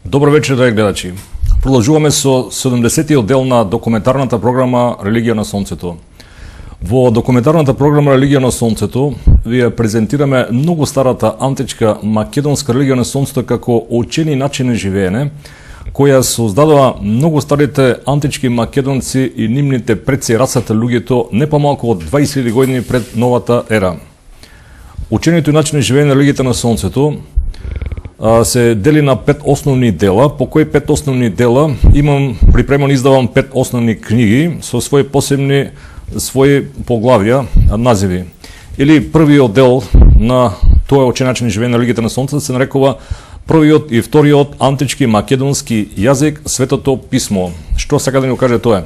Добро вечер, драги гледачи. Продолжуваме со 70-тиот дел на документарната програма Религија на Сонцето. Во документарната програма Религија на Сонцето ви презентираме многу старата античка македонска религија на Сонцето како учени начин на живеење, која создадува многу старите антички македонци и нивните предци расата луѓето не помалку од 20.000 години пред новата ера. Учението и начин на живеење на религијата на Сонцето се дели на 5 основни дела, по кои 5 основни дела имам припремано, издавам 5 основни книги со своји посебни поглавја, називи. Или првиот дел на тоа учен начин на живеење на религијата на Сонцето се нарекува првиот и вториот антички македонски јазик, Светото писмо. Што сака да ни каже тоа?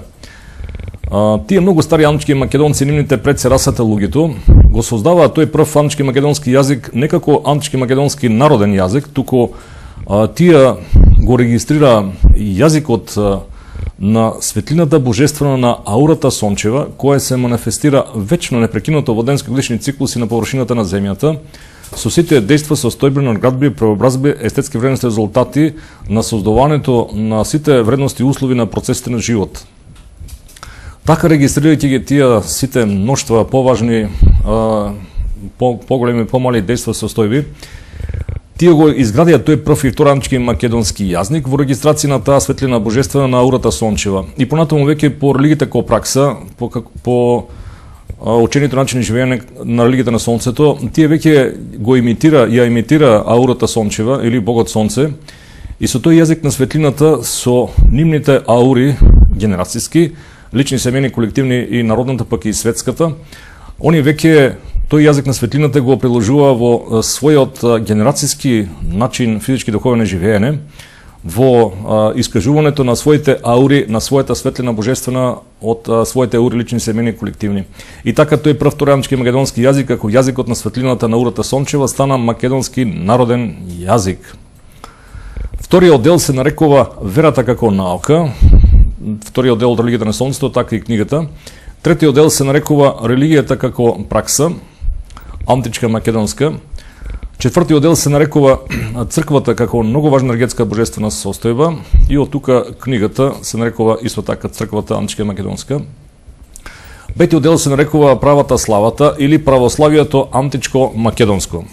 Тие многу стари антички македонци, нивните предци расата луѓето, го создаваат тој прв антички македонски јазик не како антички македонски народен јазик, туку тие го регистрира јазикот на светлината божествена на аурата сончева, која се манифестира вечно непрекинато во денски годишни циклуси на површината на земјата, со сите дејства, состојбени надградби, преобразби, естетски вредности резултати на создавањето на сите вредности и услови на процесите на живот. Така регистрирајќи ги тие сите мноштва поважни, поголеми, помали дејства состојби, тие го изградија тој прв и втори антички македонски јазник во регистрација на таа светлина божествена на аурата сончева. И понатаму веќе по религијата како пракса, по учението начин на живеење на религијата на Сонцето, тие веќе го ја имитира аурата сончева или Богот Сонце, и со тој јазик на светлината, со нивните аури генерацијски, лични, семени, колективни и народната, пак и светската, они веќе тој јазик на светлината го приложува во својот генерацијски начин физички духовен живеење, во искажувањето на своите аури, на својата светлина божествена од своите аури лични, семени, колективни. И така тој прв втори антички македонски јазик, како јазикот на светлината на аурата сончева, стана македонски народен јазик. Вториот дел се нарекува Верата како наука, вториот дел од религијата на Сонцето, така и книгата. Третиот дел се нарекува Религијата како пракса, античка македонска. Четвртиот дел се нарекува Црквата како многу важна енергетска божествена состојба, и од тука книгата се нарекува исто така Црквата античка македонска. Петиот дел се нарекува Правата славата или Православието античко македонско.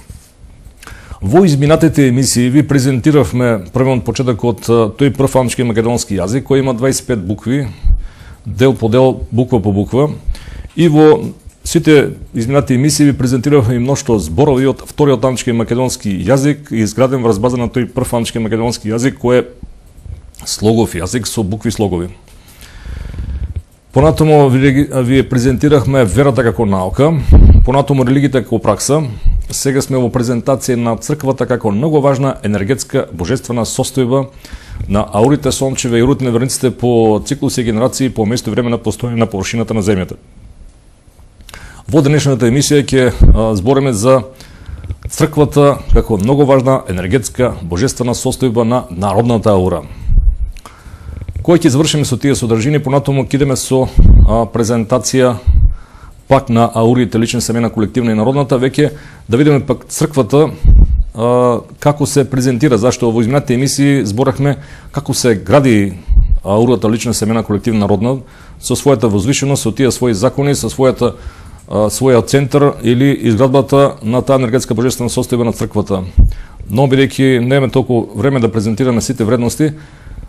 Во изминатите емисии ви презентиравме првен почеток од тој прв антички македонски јазик, кој има 25 букви, дел по дел, буква по буква, и во сите изминати емисии ви презентиравме и мношто зборови од вториот антички македонски јазик, изграден врз база на тој прв антички македонски јазик, кој е слогов јазик со букви слогови. Понатаму ви презентирахме Верата како наука, понатаму Религијата како пракса. Сега сме во презентација на Црквата како многу важна енергетска божествена состојба на аурите сончеве и аурите на верниците по циклуси и генерации по место и време на постојање на површината на земјата. Во денешната емисија ќе збориме за Црквата како многу важна енергетска божествена состојба на народната аура. Кој ќе завршиме со тие содржини, понатаму ќе идеме со презентација пак на аурите лични, семена, колективна и народната, веќе да видиме пак Црквата како се презентира, зашто во изминатите емисии зборахме како се гради аурата лична, семена, колективна, народна, со својата возвишеност, со тие своји закони, со својот центар или изградбата на таа енергетска божествена состојба на Црквата. Но бидејќи немаме толку време да презентираме сите вредности,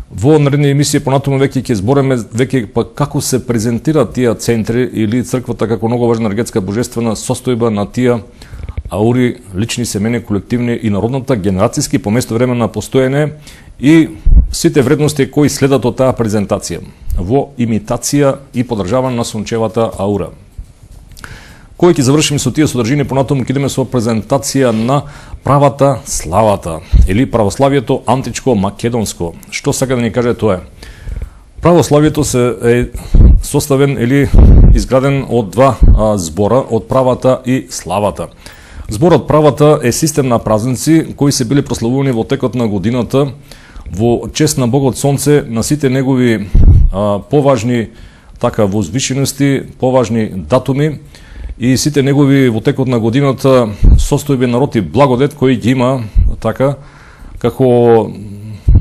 во наредни емисии понатаму веќе ќе збориме веќе пак како се презентираат тие центри или Црквата како многу важна енергетска божествена состојба на тие аури лични, семени, колективни и народната генерацијски по место време на постоење и сите вредности кои следат од таа презентација во имитација и подржавање на сончевата аура. Кој ќе завршиме со тие содржини, понатаму ќе идеме со презентација на Правата славата или Православието античко македонско. Што сака да ни каже тоа? Православието се е составен или изграден од два збора, од правата и славата. Зборот правата е систем на празници кои се били прославувани во текот на годината во чест на Богот Сонце, на сите негови поважни возвишености, поважни датуми и сите негови во текот на годината состојби на род и благодет кои ги има како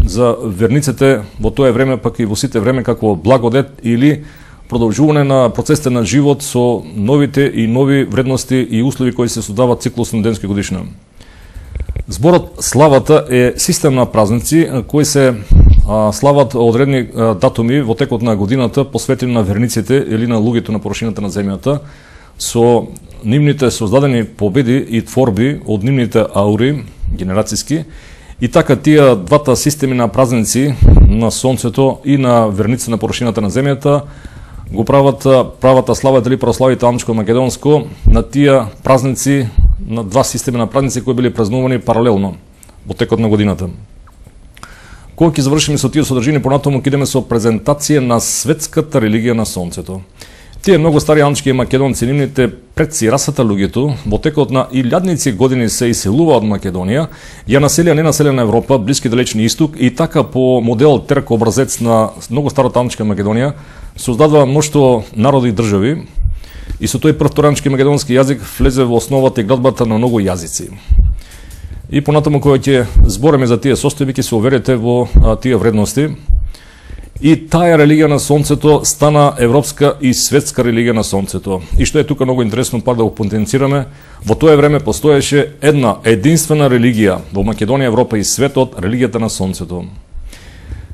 за верниците во тоа време, пак и во сите време, како благодет или продолжување на процесите на живот со новите и нови вредности и услови кои се создаваат циклусно денски годишно. Зборот славата е систем на празници кои се слават одредени датуми во текот на годината посветени на верниците или на луѓето на површината на земјата со нивните создадени победи и творби од нивните аури генерацијски. И така тие двата системи на празници на сонцето и на верниците на површината на земјата го правата слава дали прославите амчко-македонско на тие празници, на два системи на празници кои били празнувани паралелно во текот на годината. Кога ќе завршиме со тие содржини, понатаму ќе идеме со презентација на светската религија на сонцето. Тие многу стари амчки македонци, нивните предци, расата луѓето, во текот на илјадници години се иселува од Македонија, ја населија ненаселена Европа, Блиски далечни Исток и така по модел Терк образец на многу старата амчка Македонија, создадува мноштво народи и држави и со тој прв торанчки македонски јазик влезе во основата и градбата на многу јазици. И понатаму кога ќе збориме за тие состојби, ќе се уверите во тие вредности. И таа религија на сонцето стана европска и светска религија на сонцето. И што е тука многу интересно, пак да го потенцираме, во тоа време постоеше една единствена религија во Македонија, Европа и светот, религијата на сонцето.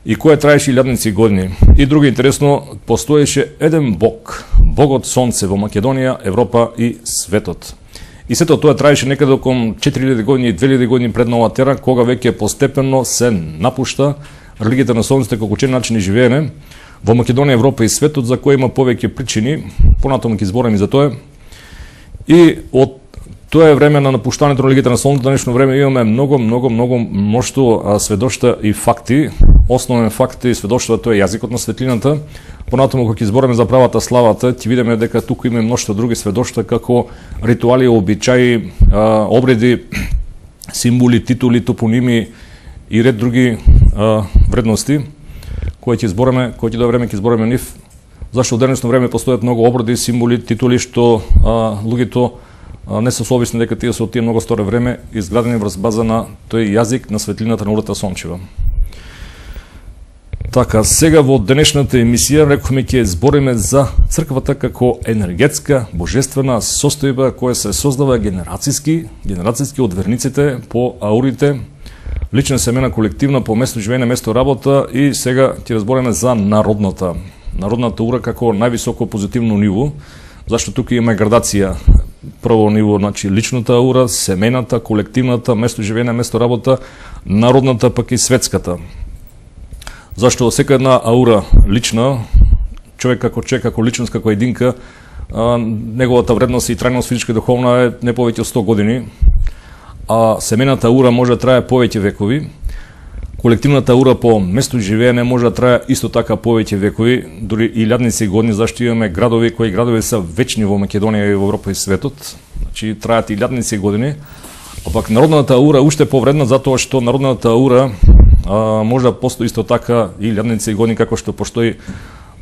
И која траеше илјадници години. И друго интересно, постоеше еден бог, богот сонце во Македонија, Европа и светот. И сето тоа траеше некаде околу 4000 години и 2000 години пред новата ера, кога веќе постепено се напушта религијата на сонцето како учен начин и живеене во Македонија, Европа и светот, за кој има повеќе причини, понатаму ќе зборам и за тоа. И од тоа време на напуштањето на религијата на сонцето, днешно време имаме много мноштво сведоштва и факти. Основен факт и сведоштва тоа е јазикот на светлината. Понатаму кога ќе збориме за правата славата, ќе видиме дека тука има мноштво други сведоштва како ритуали, обичаи, обреди, символи, титули, топоними и ред други вредности кои ќе збориме, кои ќе до време ќе збориме нив. Зашто во денешно време постојат многу обреди, символи, титули што луѓето не се совесни дека тие се од тие многу старо време изградени врз база на тој јазик на светлината на урата сончева. Така, сега во денешната емисија рекохме ќе збориме за црквата како енергетска, божествена состојба која се создава генерацијски од верниците по аурите, лична семена, колективна по место живење, место работа и сега ќе разбориме за народната ура како највисоко позитивно ниво, зашто тука има градација. Прво ниво, значи личната аура, семената, колективната, место живење, место работа, народната пак и светската. Зашто сека една аура лична, човек како личност, како единка, неговата вредност и трајност физичка и духовна е не повеќе од 100 години, а семената аура може да трае повеќе векови. Колективната аура по место живеење може да трае исто така повеќе векови, дури илјадници години, зашто имаме градови кои градови се вечни во Македонија и во Европа и светот, значи траат илјадници години. А пак народната аура уште повредна затоа што народната аура може да постои исто така илјадници години како што постои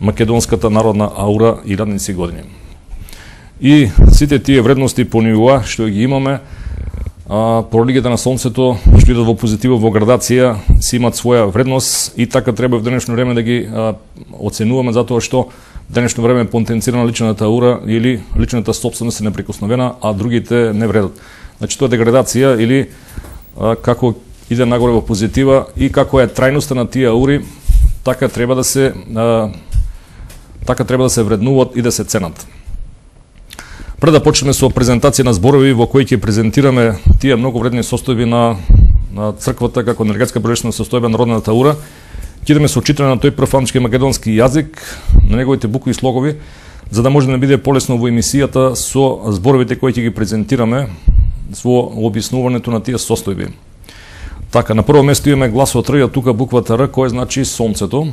македонската народна аура илјадници години. И сите тие вредности по нивоа што ги имаме по религијата на сонцето, што идат во позитива, во градација, си имат своја вредност и така треба в денешно време да ги оценуваме, затоа што в денешно време потенцирана личната аура или личната собственост е неприкосновена, а другите не вредат. Значи тоа е деградација или како иде нагоре во позитива и како е трајноста на тие аури, така треба да се вреднуваат и да се ценат. Пред да почнеме со презентација на зборови во кои ќе презентираме тие многу вредни состојби на црквата како енергетска божествена состојба на народната аура, ќе идеме со читање на тој прв амчки македонски јазик, на неговите букви и слогови, за да може да не биде полесно во емисијата со зборовите кои ќе ги презентираме во објаснувањето на тие состојби. Така, на прво место имаме гласот Р, тука буквата Р, кој значи сонцето.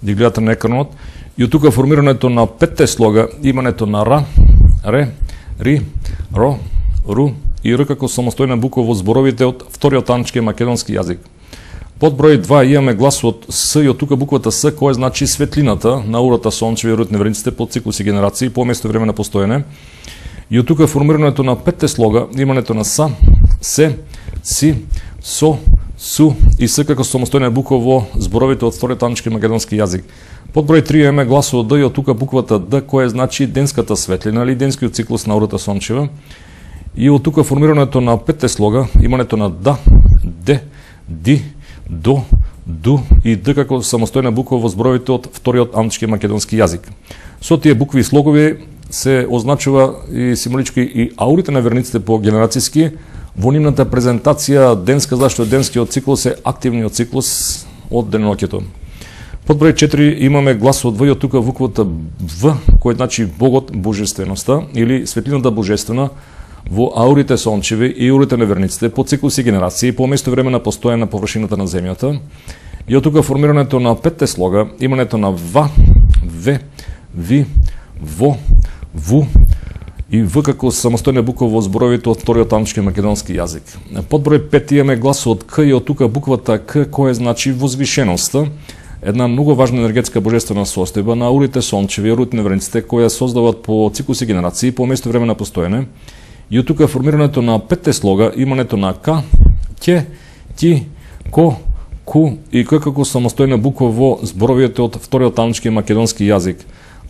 Ги гледате на екранот. И од тука формирањето на петте слога, имането на Р, Ре, Ри, Ро, Ру и Р како самостојна буква во зборовите од вториот амчки македонски јазик. Под број 2 имаме гласот С и од тука буквата С, која значи светлината на аурата сончева и род верниците по циклуси генерации по место време на постоење. И од тука формирањето на петте слога, имането на Са, Се, Си, Со, су и с како самостојна бука во зборовите од вториот анички македонски јазик. Под број 3 имаме гласот Д и од тука буквата Д, која значи денската светлина или денскиот циклус на аурата сончева. И од тука формирањето на петте слога, имането на да, де, ди, до, ду и Д како самостојна буква во зборовите од вториот анички македонски јазик. Со тие букви и слогови се означува и символички и аурите на верниците по генерацијски во нивната презентација денска, зашто денскиот циклус е активниот циклус од деноноќето. Под број 4 имаме гласот В и од тука буквата В, кој значи Богот, божественоста или светлината божествена во аурите сончеви и аурите на верниците по циклуси генерации по место време на постојане на површината на земјата. И од тука формирањето на петте слога, имането на ва, ве, ви, во, ву и В како самостојна буква во зборовите од вториот анички македонски јазик. Под број 5 имаме гласот К и од тука буквата К, која значи возвишеноста, една многу важна енергетска божествена состојба на аурите сончеви и аурите на верниците која создаваат по циклуси генерации по место време на постојане. И од тука формирањето на петте слога, имането на К, ќе, ти, ко, ку и К како самостојна буква во зборовите од вториот анички македонски јазик.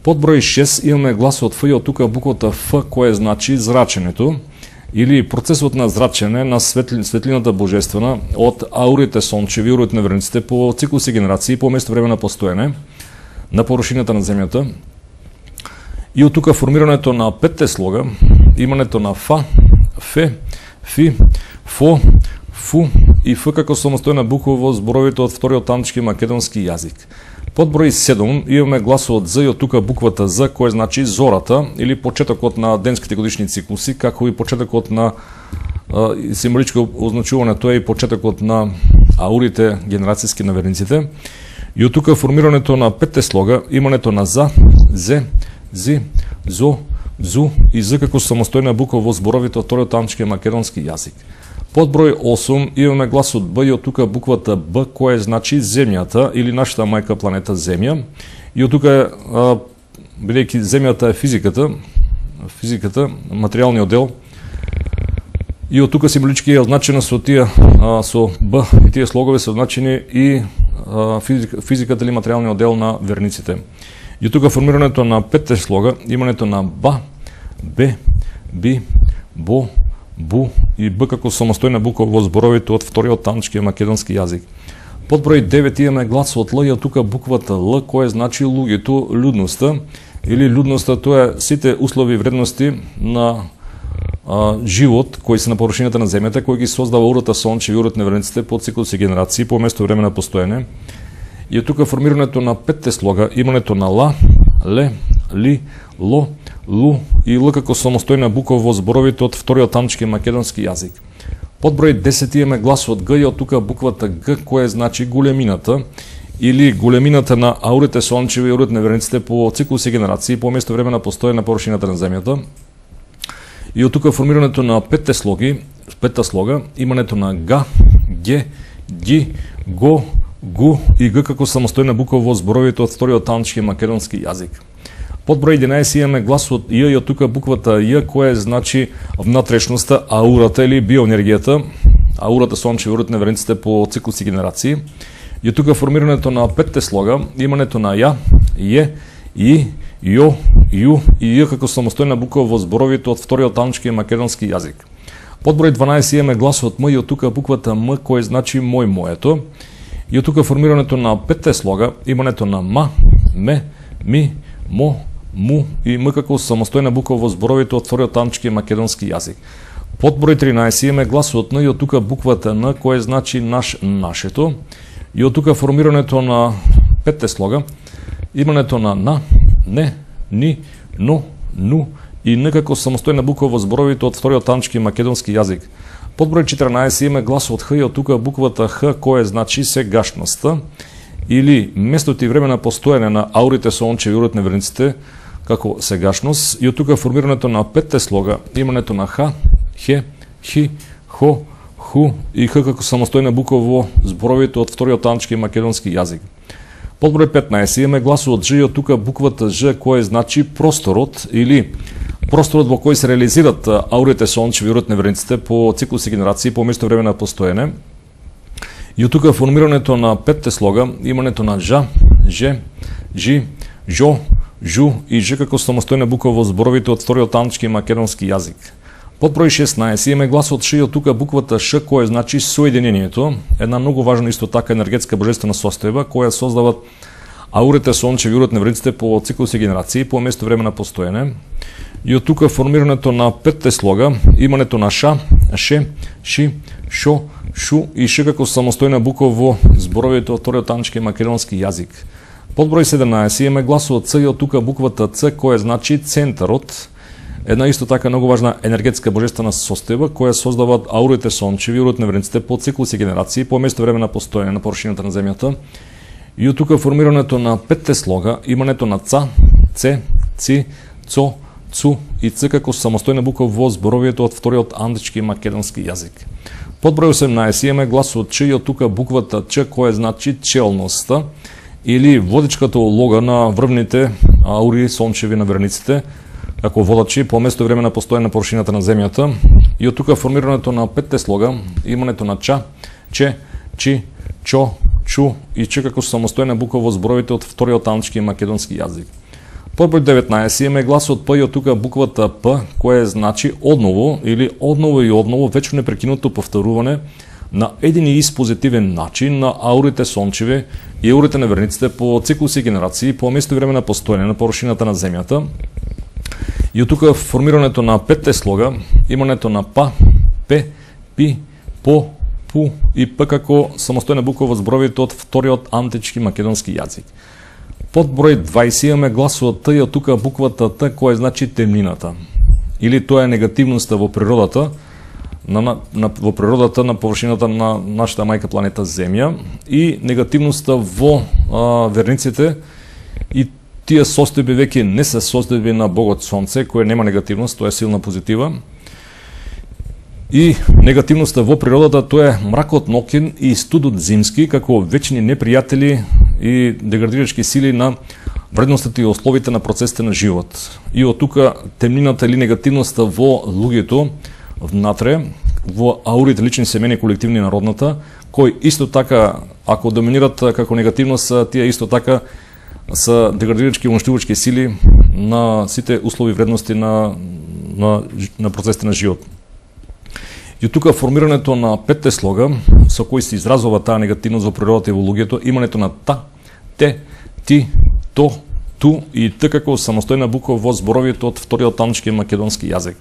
Под број 6 имаме гласот Ф и од тука буквата Ф, која значи зраченето или процесот на зрачене на светлината божествена од аурите сончеви и аурите на верниците по циклуси генерации по место време на постојане на површината на земјата. И од тука формирањето на петте слога, имането на Фа, Фе, Фи, Фо, Фу и Ф како самостојна буква во зборовите од вториот анички македонски јазик. Под број 7 имаме гласот З и од тука буквата З, кој значи зората или почетокот на денските годишни циклуси, како и почетокот на символичко означување, тоа е и почетокот на аурите генерацијски на верниците. И од тука формирањето на петте слога, имането на За, Зе, Зи, Зо, Зу и З како самостојна буква во зборовите од вториот анички македонски јазик. Под број 8 имаме гласот Б и од тука буквата Б, која значи земјата или нашата мајка планета Земја. И од тука, бидејќи земјата е физиката, материјалниот дел, и од тука символички е означена со тие со Б и тие слогови се означени и физиката или материјалниот дел на верниците. И од тука формирањето на петте слога, имането на Ба, Бе, Би, Бо, Бу и Б како самостојна буква во зборовите од вториот анички македонски јазик. Под број 9 имаме гласот Л и од тука буквата Л, која значи луѓето, людноста или людноста, тоа е сите услови и вредности на живот кои се на површината на земјата, кој ги создава аурата сончеви и аурите на верниците по циклуси генерации по место време на постојане. И од тука формирањето на петте слога, имането на Ла, Ле, Ли, Ло, Лу и Л како самостојна буква во зборовите од вториот анички македонски јазик. Под број 10 имаме гласот Г и од тука буквата Г, која значи големината или големината на аурите сончеви и аурите на верниците по циклуси генерации по место време на постојане на површината на земјата. И од тука формирањето на петте слога, имането на Га, Ге, Ги, Го, Гу и Г како самостојна буква во зборовите од вториот анички македонски јазик. Под број 11 имаме гласот Ј и од тука буквата Ј, која значи внатрешноста, аурата или биоенергијата, аурата сончеви и аурите на верниците по циклуси генерации. И од тука формирањето на петте слога, имането на Ја, Је, И, Јо, Ју и Ј како самостојна буква во зборовите од вториот анички македонски јазик. Под број 12 имаме гласот М и од тука буквата М, кој значи мој, моето. И од тука формирањето на петте слога, имането на Ма, Ме, Ми, Мо, Му и М како самостојна буква во зборовите од вториот анички македонски јазик. Под број 13 имаме гласот Н и од тука буквата Н, кој значи наш, нашето. И од тука формирањето на петте слога, имането на, Не, Ни, Но, Ну и Н како самостојна буква во зборовите од вториот анички македонски јазик. Под број 14 имаме гласот Х и од тука буквата Х, која значи сегашноста или местото и време на постојане на аурите сончеви и аурите на верниците како сегашност. И од тука формирањето на петте слога, имането на Х, Хе, Хи, Хо, Ху и Х како самостојна буква во зборовите од вториот анички македонски јазик. Под број 15 имаме гласот Ж и од тука буквата Ж, која значи просторот или просторот во кој се реализират аурите сончеви и аурите на верниците по циклуси генерации по место време на постојане. И од тука формирањето на петте слога, имањето на жа, же, жи, жо, жу и ж како самостојна буква во зборовите од вториот антички македонски јазик. Под број 16 имаме гласот ш и од тука буквата ш која значи соединението, една многу важна исто така енергетска божествена состојба која создават аурите, сончеви, урот невредиците по циклуси генерации по место време на постоење. И од тука формирањето на петте слога, имањето на ша, ше, ши, шо, шу и ш како самостојна буква во зборовите од вториот антички македонски јазик. Под број 17 имаме гласот ц и од тука буквата ц која значи центарот, една исто така многу важна енергетска божествена состојба која создаваат аурите, сончеви, урот невредиците по циклуси генерации по место време на постоење на површината на земјата. И од тука формирањето на петте слога, имањето на ца, це, ци, цо, цу и ц како самостојна буква во зборовието од вториот антички македонски јазик. Под број 18 имаме гласот ч и од тука буквата ч која значи челноста или водичката улога на врвните аури, сончеви на верниците како водачи по место време на постоење на површината на земјата. И од тука формирањето на петте слога, имањето на ча, че, чи, чо, чу и ч како самостојна буква во зборовите од вториот антички македонски јазик. Под број 19 имаме гласот п и од тука буквата п која значи одново или одново и одново вечно непрекинуто повторување на еден и ист позитивен начин на аурите, сончеви и аурите на верниците по циклуси генерации по место време на постоење на површината на земјата. И од тука формирањето на петте слога, имањето на па, пе, пи, по, пу и п како самостојна буква во зборовите од вториот антички македонски јазик. Под број 20 имаме гласот т и од тука буквата т која значи темнината. Или тоа е негативноста во природата, во природата на површината на нашата мајка планета Земја и негативноста во верниците и тие состојби веќе не се состојби на Богот Сонце, која нема негативност, тоа е силна позитива. И негативноста во природата тоа е мракот ноќен и студот зимски како вечни непријатели и деградирачки сили на вредностите и условите на процесите на живот. И од тука темнината или негативноста во луѓето внатре, во аурите лични, семени, колективни народната, кои исто така, ако доминират како негативност, тие исто така са деградирачки и уништувачки сили на сите услови вредности на процесите на живот. И тука формирањето на петте слога, со кои се изразува таа негативност во природата и во луѓето, имањето на та, те, ти, то, ту и т како самостојна буква во зборовите од вториот антички македонски јазик.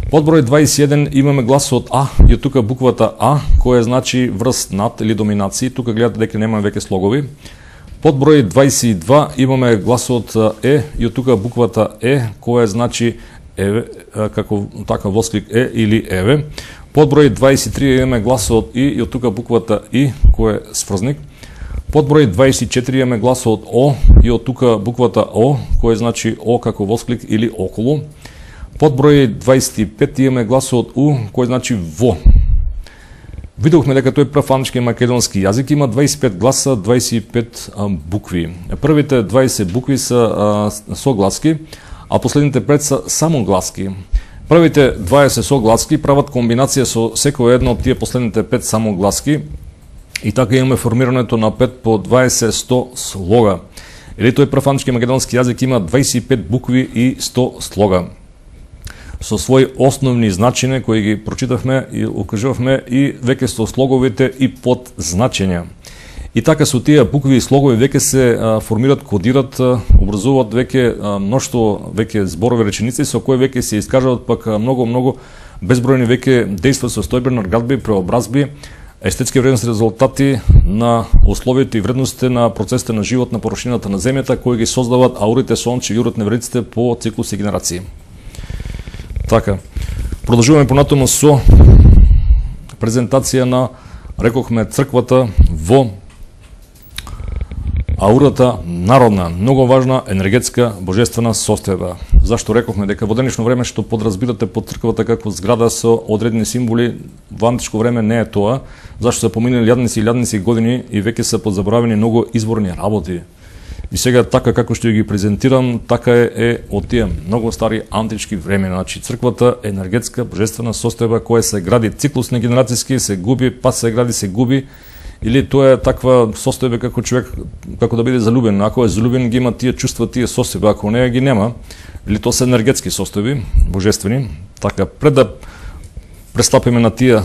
Под број 21 имаме гласот а и од тука буквата а која значи врз над или доминација. Тука гледате дека немаме веќе слогови. Под број 22 имаме гласот е и од тука буквата е која значи еве, како така восклик е или еве. Под број 23 имаме гласот и од тука буквата и кој е сврзник. Под број 24 имаме гласот о и од тука буквата о кој значи о како восклик или околу. Под број 25 имаме гласот у кој значи во. Видовме дека тој прв антички македонски јазик има 25 гласа, 25 букви. Првите 20 букви се согласки, а последните 5 се самогласки. Првите 20 согласки прават комбинација со секој едно од тие последните 5 самогласки и така имаме формирањето на 5 по 20-100 слога. Или тој прв антички македонски јазик има 25 букви и 100 слога со своји основни значења кои ги прочитавме и укажувавме и веќе со слоговите и подзначења. И така со тие букви и слогови веќе се формираат, кодираат, образуваат веќе мноштво веќе зборови, реченици со кои веќе се искажуваат пак многу безбројни веќе дејства, состојби, надградби, преобразби, естетски вредности, резултати на условите и вредностите на процесите на живот на површината на земјата кои ги создаваат аурите, сончеви и урот невредиците по циклуси генерации. Така, продолжуваме понатаму со презентација на, рекохме, црквата во аурата народна, многу важна енергетска божествена состојба. Зашто рекохме дека во денешно време што подразбирате под црквата како зграда со одредени символи, во античко време не е тоа, зашто се поминали јадници години и веќе се подзаборавени многу изворни работи. И сега така како што ги презентирам, така е од тие многу стари антички времена. Значи црквата е енергетска божествена состојба која се гради циклусно генерацијски, се губи, па се гради, се губи или тоа е таква состојба како човек како да биде залюбен. Ако е залюбен, ги има тие чувства, тие состојби, ако не ги нема, или тоа се енергетски состојби, божествени. Така, пред да престапиме на тие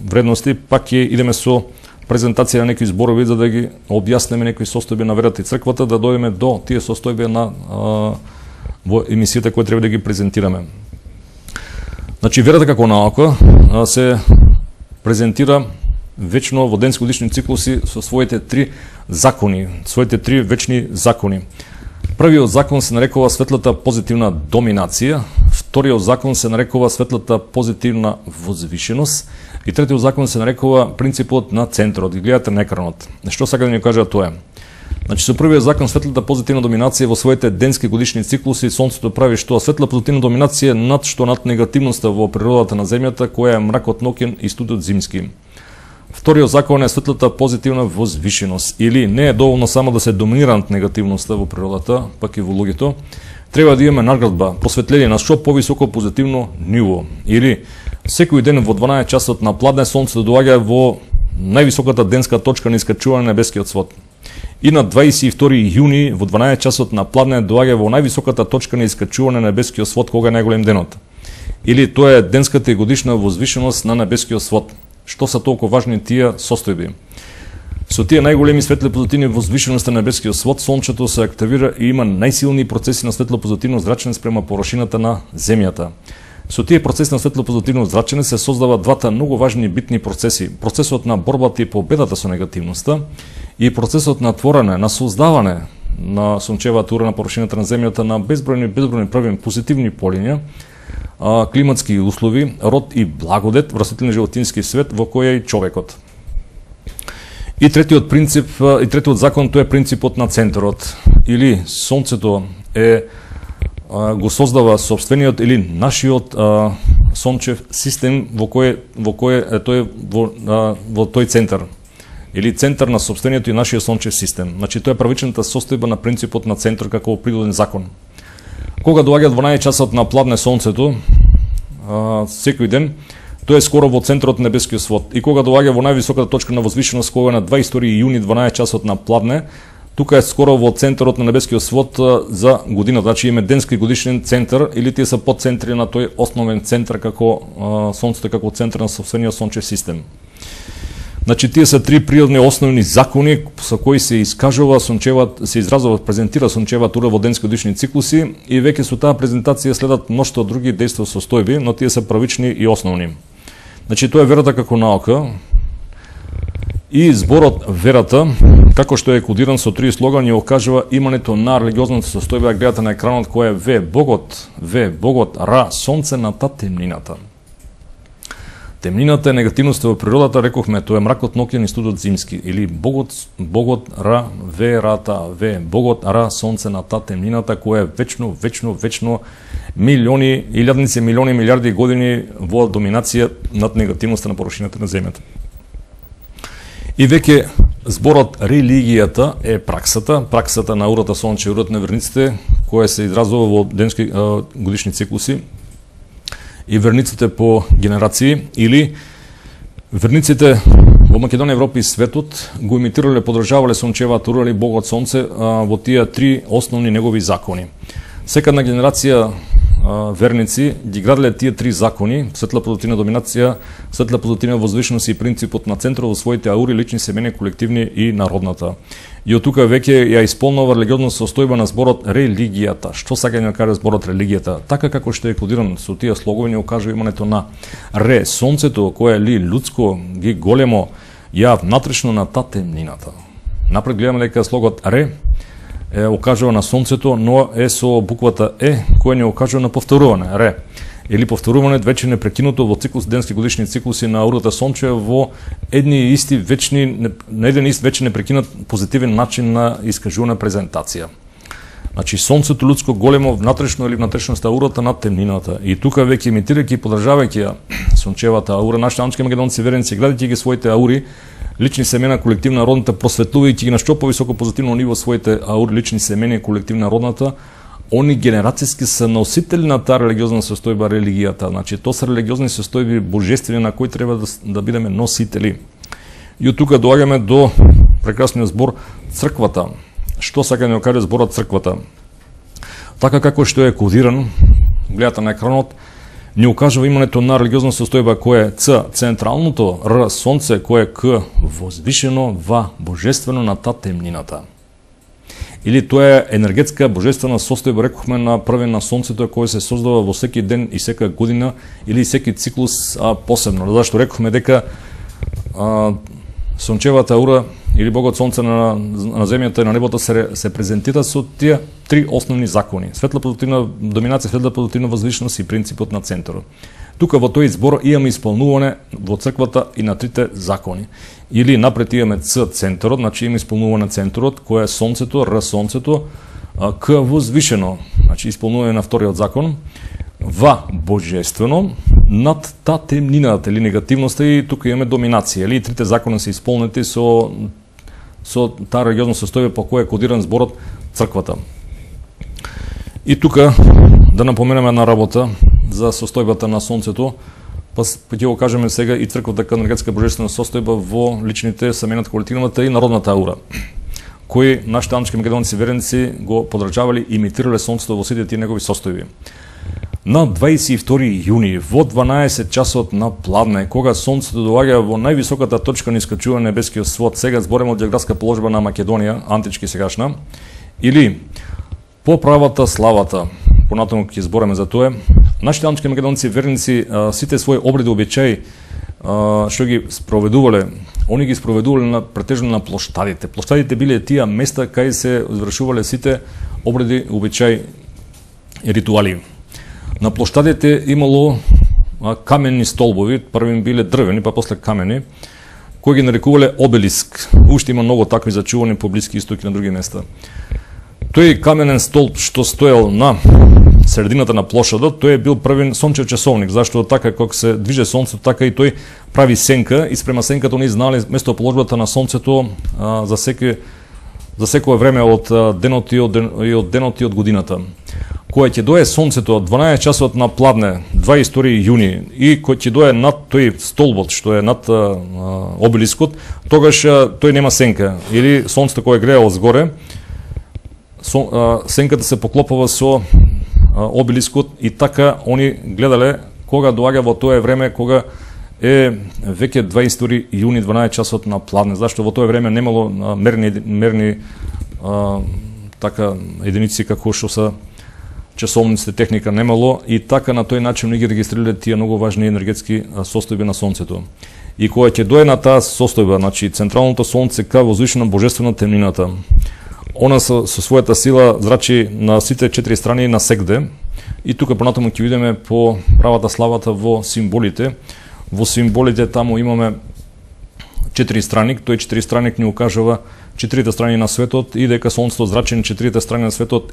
вредности, пак ќе идеме со презентација на некои зборови за да ги објаснеме некои состојби на верата и црквата, да дојдеме до тие состојби на во емисијата која треба да ги презентираме. Значи, верата како наука се презентира вечно во денско-годишни циклуси со своите три закони, своите три вечни закони. Првиот закон се нарекува светлата позитивна доминација, вториот закон се нарекува светлата позитивна возвишеност и третиот закон се нарекува принципот на центарот. Ги гледате на екранот. Што сака да ни кажа тоа? Значи, со првиот закон светлата позитивна доминација во своите денски годишни циклуси сонцето прави што светла позитивна доминација над што над негативноста во природата на земјата, која е мракот ноќен и студот зимски. Вториот закон е светлата позитивна возвишеност, или не е доволно само да се доминира над негативноста во природата, пак и во луѓето, треба да имаме наградба, просветление на што повисоко позитивно ниво, или секој ден во 12 часот на пладне сонцето доаѓа во највисоката денска точка на искачување на небескиот свод. И на 22 јуни во 12 часот на пладне доаѓа во највисоката точка на искачување на небескиот свод кога е најголем денот. Или тоа е денската и годишна возвишеност на небескиот свод. Што се толку важни тие состојби? Со тие најголеми светли позитивни возвишености на небескиот свод, сончето се активира и има најсилни процеси на светло позитивно зрачење спрема површината на земјата. Со тие процеси на светло позитивно зрачење се создаваат двата многу важни битни процеси: процесот на борбата и победата со негативноста и процесот на творење, на создавање на сончевата ура на површината на земјата на безбројни прави позитивни полиња, климатски услови, род и благодет, врастителен животински свет во кој е и човекот. И третиот принцип, и третиот закон, тоа е принципот на центарот, или сонцето го создава собствениот или нашиот сончев систем во кој тој во тој центар, или центар на собствениот и нашиот сончев систем. Значи тоа е првичната состојба на принципот на центар како природен закон. Кога доаѓа 12 часот на пладне сонцето, секој ден, тоа е скоро во центарот на небескиот свод. И кога доаѓа во највисоката точка на возвишеност, кога на 22 јуни 12 часот на пладне, тука е скоро во центарот на небескиот свод за година. Значи имаме денски и годишен центар, или тие се подцентри на тој основен центар како сонцето како центар на собствениот сончев систем. Значи тие се три природни основни закони со кои се искажува се изразува, презентира сончевата ура во денски годишни циклуси, и веќе со таа презентација следат мношто други дејства состојби, но тие се првични и основни. Значи тоа е верата како наука, и зборот верата, како што е кодиран со три слогани, окажува имането на религиозната состојба. Гледате на екранот која е В Богот, Ра, сонце на та темнината. Темнината е негативноста во природата, рековме, тоа е мракот ноќен и студот зимски, или Богот Ра, верата, Богот Ра, сонце на та темнината, која е вечно милиони, илјадници, милиони, милиарди години во доминација над негативноста на површината на земјата. И веќе зборот религијата е праксата на урата сонче, урата на верниците, која се изразува во денски годишни циклуси, и верниците по генерации, или верниците во Македонија, Европа и светот го имитирале, подржавале сончевата ура или Богот сонце во тие три основни негови закони. Секадна генерација верници ги граделе тие три закони: светла позитивна доминација, светла позитивна возвишеност и принципот на центарот во своите аури, лични, семени, колективни и народната. И од тука веќе ја исполнува религиозна состојба на зборот религијата. Што сака да каже зборот религијата? Така како што е кодиран со тие слогови, ни окажува имането на ре, сонцето, кое е ли людско, ги големо, ја внатрешно на та темнината. Напред гледаме дека слогот ре окажува на сонцето, но е со буквата која ни окажува на повторување, ре. Или повторување веќе непрекинуто во циклус, денски годишни циклуси на урата сонче во едни исти вечни, на еден ист веќе непрекинат позитивен начин на искажувана презентација. Значи сонцето людско големо внатрешно или внатрешноста аурата над темнината. И тука веќе имитирајќи, подржавајќи ја сончевата аура, нашите амчки македонци верници, гледајќи ги своите аури, лични семена, колективна родната, просветлувајќи ги на што повисоко позитивно ниво своите аури, лични семена, колективна родната, они генерацијски се носители на таа религиозна состојба религијата. Значи тоа се религиозни состојби божествени на кои треба да бидеме носители. И од тука доаѓаме до прекрасниот збор црквата. Што сака да каже зборот црквата? Така како што е кодиран, гледате на екранот, ни укажува имането на религиозна состојба кој е Ц, централното, Р, сонце, кој е К, возвишено, В, божествено на та темнината. Или тоа е енергетска божествена состојба, рекохме на првен на сонцето, кој се создава во секи ден и сека година или секи циклус посебно. Зашто рекохме дека сончевата аура или Богот сонце на земјата и на небото се презентира со тие три основни закони: светла позитивна доминација, светла позитивна возвишеност и принципот на центарот. Тука во тој збор имаме исполнуване во црквата и на трите закони. Или напред имаме Ц, центарот, значи имаме исполнуване центарот, кој е сонцето, Р, сонцето, К, возвишено, значи исполнуване на вториот закон, В, божествено, над та темнината или негативноста, и тука имаме доминација. Или трите закони се исполнети со таа религиозна состојба по која е кодиран зборот црквата. И тука да напоменеме една работа за состојбата на сонцето, па ќе го кажеме сега и црквата како енергетска божествена состојба во личните, семејната, колективната и народната аура, кои нашите анички македонци верници го подрачавали, имитирале сонцето во сите тие негови состојби. На 22 јуни во 12 часот на пладне, кога сонцето доаѓа во највисоката точка на искачување на небескиот свод, сега збореме од географска положба на Македонија, антички сегашна, или по правата славата, понатаму ќе збореме за тоа, нашите антички македонци верници сите своји обреди, обичаи што ги спроведувале, они ги спроведувале претежно на плоштадите. Плоштадите биле тие места кај се извршувале сите обреди, обичаи и ритуали. На плоштадите имало каменни столбови, првим биле дрвени, па после камени, кои ги нарекувале обелиск. Уште има многу такви зачувани по Блиски Исток и на други места. Тој каменен столб што стоел на средината на плошадот, тој е бил првен сончев часовник, зашто така како се движе сонцето, така и тој прави сенка, и спрема сенката они знали местоположбата на сонцето за секое време од денот и од денот и од годината. Кога ќе дое сонцето 12 часот на пладне, 22 јуни, и кој ќе дое над тој столбот што е над обелискот, тогаш тој нема сенка, или сонцето кое грее од згоре, сенката се поклопува со обелискот, и така они гледале кога доаѓа во тоа време кога е веќе 22 јуни 12 часот на пладне, зашто во тоа време немало мерни така единици како што се часовниците, техника немало, и така на тој начин ние ги регистрирале тие многу важни енергетски состојби на сонцето. И кога ќе дое на таа состојба, значи централното сонце ка возвишено божествено темнината, она со својата сила зрачи на сите четири страни на сегде, и тука понатаму ќе видиме по правата славата во символите. Во символите таму имаме четири страник, тој четири страник ни укажува четирите страни на светот, и дека сонцето зрачи на четирите страни на светот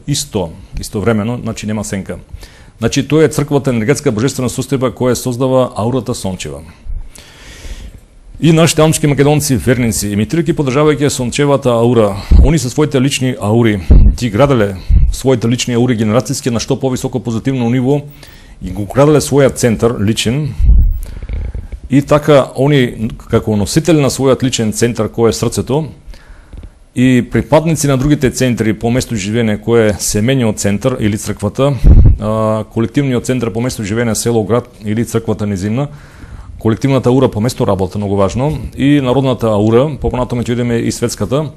истовремено, значи нема сенка. Значи тоа е црквата енергетска божествена состојба која создава аурата сончева. И нашите антички македонци верници, имитирајќи подржавајќи сончевата аура, они со своите лични аури ги граделе своите лични аури генерацијски на што повисоко позитивно ниво, и го граделе својот центар личен, и така они како носители на својот личен центар кој е срцето, и припадници на другите центри по место живење кој е семејниот центар или црквата, колективниот центар по место живење село, град или црквата низина, колективната аура по место работа, многу важно, и народната аура, попонатаму ќе видиме и светската,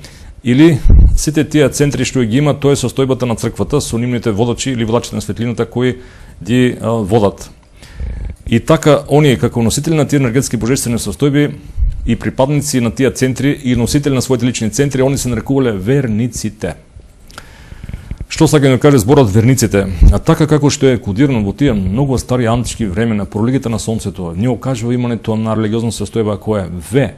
или сите тие центри што ги има, тоа е состојбата на црквата со нивните водачи или водачите на светлината кои ги водат. И така они како носители на тие енергетски божествени состојби и припадници на тие центри и носители на своите лични центри, они се нарекувале верниците. Што сака да каже зборот верниците? А така како што е кодирано во тие многу стари антички времена по религијата на сонцето, ни окажува имането на религиозна состојба која е В,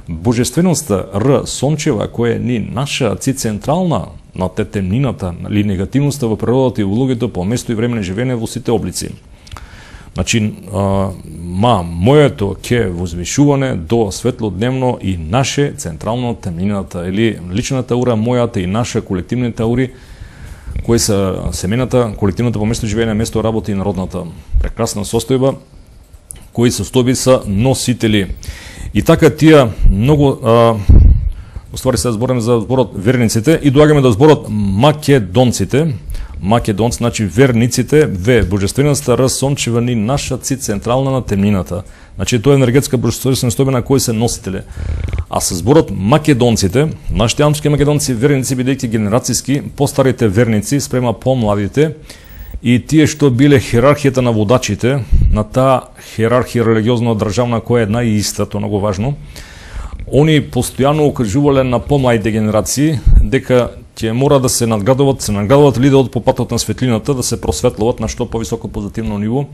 божественоста, Р, сончева, која е ни наша, Ци централна на те темнината или негативноста во природата и во луѓето по место и време на живење во сите облици. Значи, моето ке возвишуване до светлодневно и наше централно темнината, или личната аура, мојата и наша колективните аури, кои се семената, колективната по место живење, место работа и народната прекрасна состојба, кои состојби са носители. И така тие многу уствари се збориме за зборот верниците и доаѓаме до зборот македонците. Македонци, значи верниците, В, божествената Р, сончева ни наша ци централна на темнината. Значи тоа е енергетска божествена состојба на кои се носители. А со зборот македонците, нашите амски македонци верници бидејќи генерацијски постарите верници спрема помладите и тие што биле хиерархијата на водачите на таа хиерархија религиозно државна која е една и иста, тоа многу важно. Они постојано укажувале на помладите генерации дека ќе мора да се надградуваат лидерот по патот на светлината, да се просветлуват на што повисоко позитивно ниво.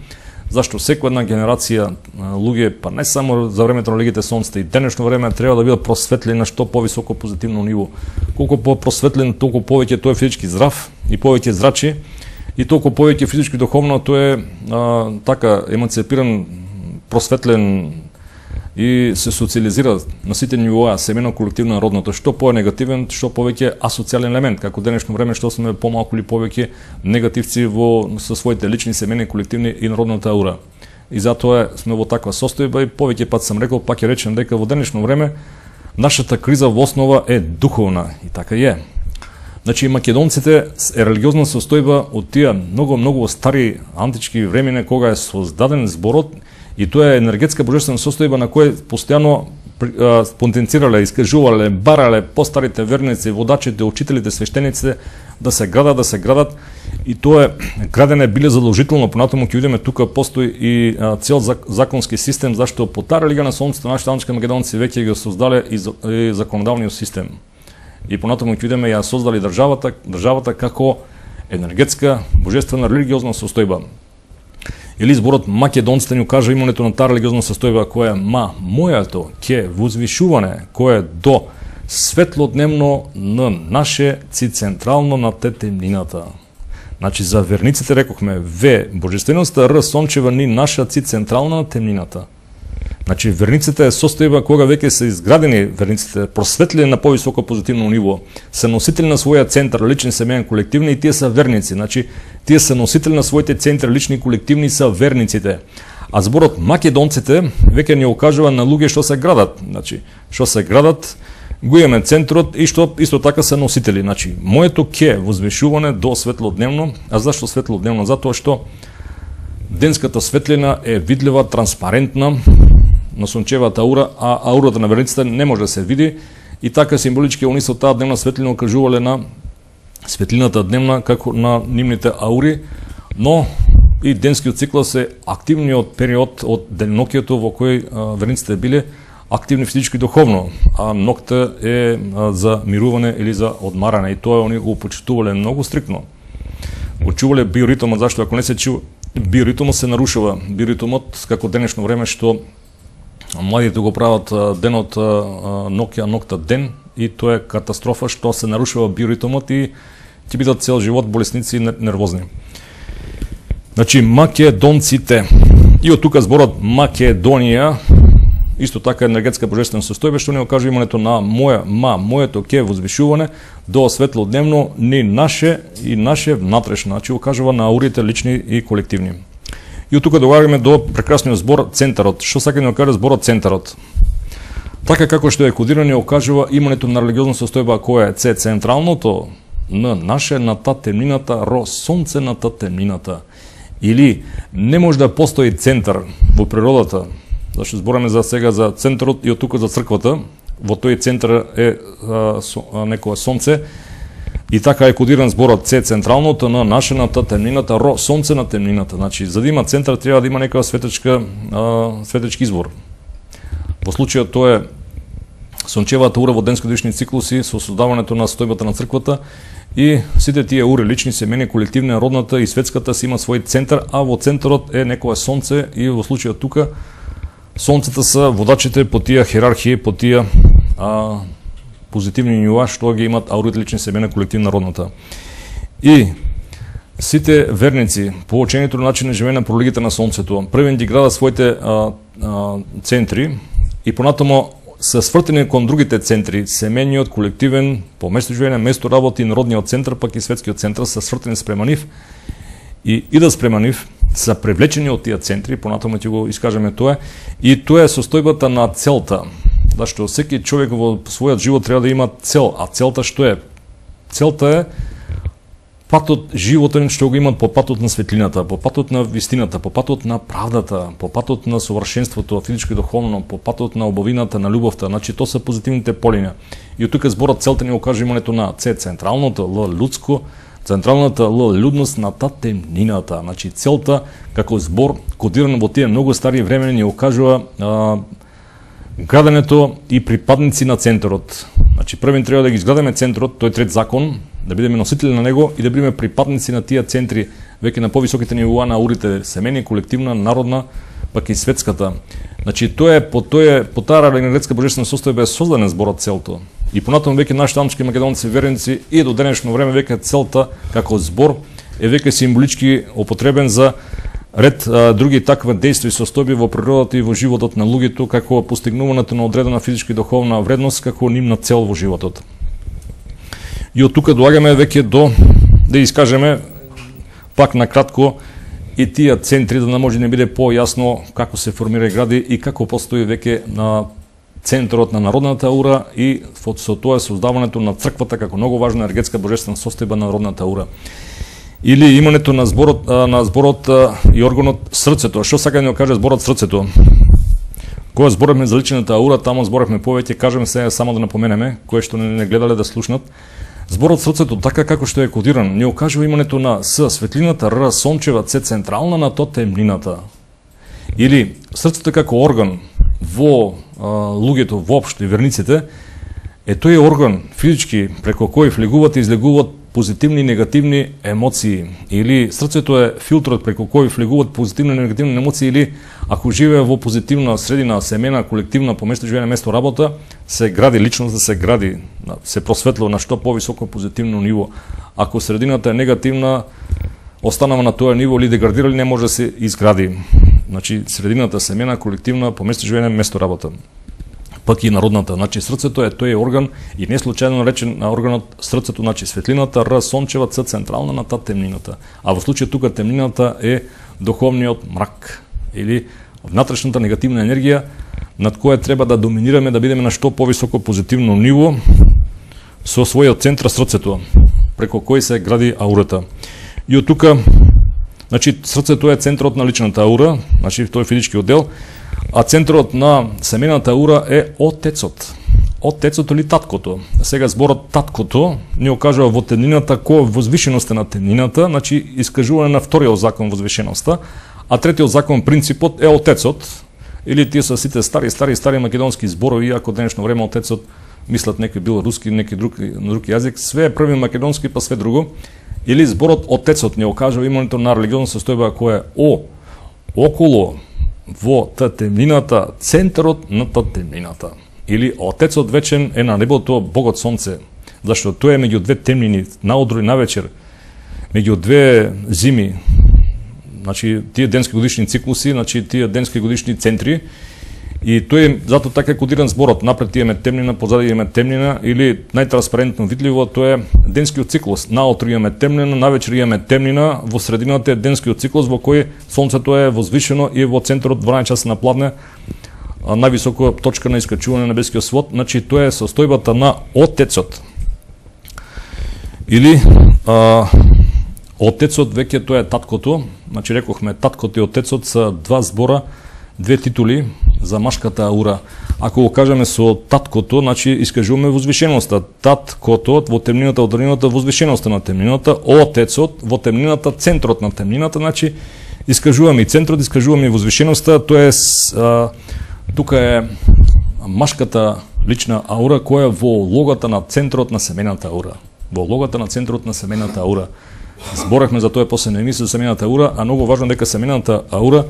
Зашто секоја една генерација луѓе, па не само за времето на легите сонците и денешно време треба да бидат просветлени на што повисоко позитивно ниво. Колку по-просветлен, толку повеќе тој е физички здрав и повеќе зрачи и толку повеќе физички духовно тој е така еманципиран, просветлен и се социализира на сите нивоа, семено, колективно, народното, што по-негативен, што повеќе асоцијален елемент, како денешно време што сме помалку или повеќе негативци со своите лични, семени, колективни и народната аура. И затоа сме во таква состојба и повеќе пат сам рекол, пак ќе речем дека во денешно време нашата криза во основа е духовна и така е. Значи македонците е религиозна состојба од тие многу стари антички времине кога е создаден зборот. И тоа е енергетска божествена состојба на која постојано потенцирале, искажувале, барале постарите верници, водачите, учителите, свештениците да се градат. И тоа е градене биле задолжително, понатаму ќе видиме тука постои и цел законски систем, зашто по таа религија на сонцето нашите амски македонци веќе го создале и законодавниот систем. И понатаму ќе видиме ја создали државата како енергетска божествена религиозна состојба. Или зборот македонците ни кажа имането на таа религиозна состојба која е мојато ке возвишуване, која е до светлодневно на наше ци централно на темнината. Значи за верниците рекохме В, божественоста Р, сончева ни наша ци централна на темнината. Значи верниците е состојба кога веќе се изградени верниците, просветлени на повисоко позитивно ниво, се носители на своја центар, лични, семеен, колективни и тие се верници. Значи тие се носители на своите центри, лични и колективни се верниците. А зборот македонците веќе ни окажува на луѓе што се градат. Значи што се градат, го имаме центрот и што исто така се носители. Значи моето ке возвишуване до светлодневно. А зашто светлодневно? Затоа што денската светлина е видлива, транспарентна на сончевата аура, а аурата на верниците не може да се види и така символички они со таа дневна светлина окажувале на светлината дневна како на нивните аури, но и денскиот циклус е активниот период од денонокието во кој верниците биле активни физички и духовно, а ноќта е за мирување или за одмарање и тоа они го почитувале многу стриктно. Го чувале биоритмот, зашто ако не се чува биоритмот се нарушува. Биоритмот како денешно време што младите го прават денот ноќ, ноќта ден и тоа е катастрофа што се нарушува биоритмот и ќе бидат цел живот болесници и нервозни. Значи македонците и од тука зборот Македонија исто така енергетска божествена состојба што ни окажа имането на моето ке возвишуване до светлодневно ни наше и наше внатрешно, значи окажува на аурите лични и колективни. И од тука доаѓаме до прекрасниот збор центарот. Што сака ни окаже зборот центарот? Така како што е кодирано окажува имането на религиозна состојба која е централното на наше на та темнината, ро сонце на та темнината. Или не може да постои центар во природата. Зашто збораме за сега за центарот и од тука за црквата. Во тој центар е некое сонце. И така е кодиран зборот С централното на нашената темнината, ро сонце на темнината. Значи за да има центар треба да има некоја светечки извор. Во случајот тоа е сончевата ура во денско-годишни циклуси со создавањето на состојбата на црквата и сите тие ури лични, семени, колективни, народната и светската си има свој центар, а во центарот е некое сонце и во случајот тука сонцата се водачите по тие хиерархии, по тие позитивни нива што ги имат аурите лични, семена, колективна, народната. И сите верници по учењето на начин на живење по религијата на сонцето првен ги градат своите центри и понатамо се свртени кон другите центри, семејниот, колективен, по место живење, место работа и народниот центар, пак и светскиот центар се свртени спрема нив и идат спрема нив са привлечени од тие центри, понатаму ќе го искажеме тоа, и тоа е состојбата на целта. Зашто секој човек во својот живот треба да има цел, а целта што е? Целта е патот животен што го имат по патот на светлината, по патот на вистината, по патот на правдата, по патот на совршенството, физичко и духовно, по патот на убавината, на љубовта. Значи тоа се позитивните полиња. И од тука зборот целта ни го кажа имането на С централното, Л лудско, централната Л людност на темнината. Значи целта како збор кодиран во тие многу стари времена ни окажува граденето и припадници на центарот. Значи првен треба да ги изградаме центарот, тој трет закон, да бидеме носители на него и да бидеме припадници на тие центри, веќе на повисоките нивоа на аурите, семени, колективна, народна, пак и светската. Значи тоа е по таа енергетска божествена состојба е создаден зборот целто. И понатаму веќе нашите амчки македонци верници и до денешно време веќе целта како збор е веќе символички употребен за ред други таква дејства и состојби во природата и во животот на луѓето, како постигнувањето на одредена физичка и духовна вредност како нивна цел во животот. И од тука доаѓаме веќе до да искажеме пак на кратко и тие центри, да може да биде појасно како се формира и гради и како постои веќе на центарот на народната аура и со тоа создавањето на црквата како многу важна енергетска божествена состојба на народната аура. Или имането на зборот и органот срцето. Што сака да ни каже зборот срцето? Кога зборевме за личната аура, таму зборевме повеќе, кажеме се само да напоменеме, кои што не гледале да слушнат. Зборот срцето, така како што е кодиран, ни окажува имането на С светлината, Р сончева, Ц централна на то темнината. Или срцето како орган во луѓето воопшто и верниците, е тој орган физички преку кој влегуваат и излегуваат позитивни и негативни емоции. Или срцето е филтрот преку кој влегуваат позитивни и негативни емоции, или ако живее во позитивна средина, семена, колективна, по место живење, место работа, се гради личност, да се гради, се просветлува на што повисоко позитивно ниво. Ако средината е негативна, останава на тоа ниво или деградира, или не може да се изгради. Значи средината семена, колективна, по место живење, место работа. Пак и народната. Значи срцето е тој орган и не случајно наречен на органот срцето, значи светлината, Р сончева, Ц централна на темнината. А во случај тука темнината е духовниот мрак или внатрешната негативна енергија над која треба да доминираме, да бидеме на што повисоко позитивно ниво со својот центар срцето, преку кој се гради аурата. И од тука, значи срцето е центарот на личната аура, значи тој физички оддел, а центарот на семената аура е отецот. Отецот или таткото. Сега зборот таткото ни окажува во темнината кој возвишеноста на темнината, значи искажување на вториот закон возвишеноста, а третиот закон принципот е отецот, или тие се сите стари македонски зборови, ако денешно време отецот мислат некој бил руски, некој друг јазик, све е први македонски, па све друго. Или зборот отецот ни окажува имането на религиозна состојба која е околу во темнината, центарот на темнината. Или отецот вечен е на небото Богот Сонце, зашто тоа е меѓу две темнини, наутро и навечер, меѓу две зими. Значи тие денски годишни циклуси, значи тие денски годишни центри, и тој е затоа така кодиран зборот. Напред имаме темнина, позади имаме темнина, или најтранспарентно видливо тоа е денскиот циклус. Наутро имаме темнина, навечер имаме темнина, во средината е денскиот циклус во кој сонцето е возвишено и во центарот 12 часа на пладне, највисока точка на искачување на небескиот свод. Значи тоа е состојбата на отецот. Или отецот веќе тоа е таткото. Значи рекохме таткото и отецот се два збора, две титули за машката аура. Ако го кажеме со таткото, значи искажуваме возвишеноста. Таткото во темнината, од дрнината, возвишеноста на темнината, отецот во темнината, центрот на темнината, значи искажуваме и центрот, искажуваме и возвишеноста. Тоа е тука е машката лична аура која е во логата на центрот на семената аура. Во логата на центрот на семената аура. Зборевме за тоа после на емисија за семената аура, а многу важно дека семената аура,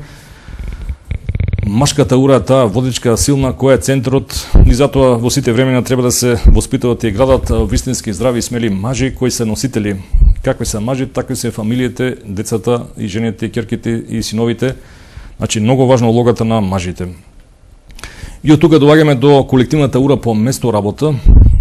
машката аура е таа водичка силна која е центарот, и затоа во сите времена треба да се воспитуваат и градат вистински здрави и смели мажи кои се носители. Какви се мажи, такви се фамилиите, децата и жените, ќерките и синовите. Значи многу важна улогата на мажите. И од тука доаѓаме до колективната аура по место работа,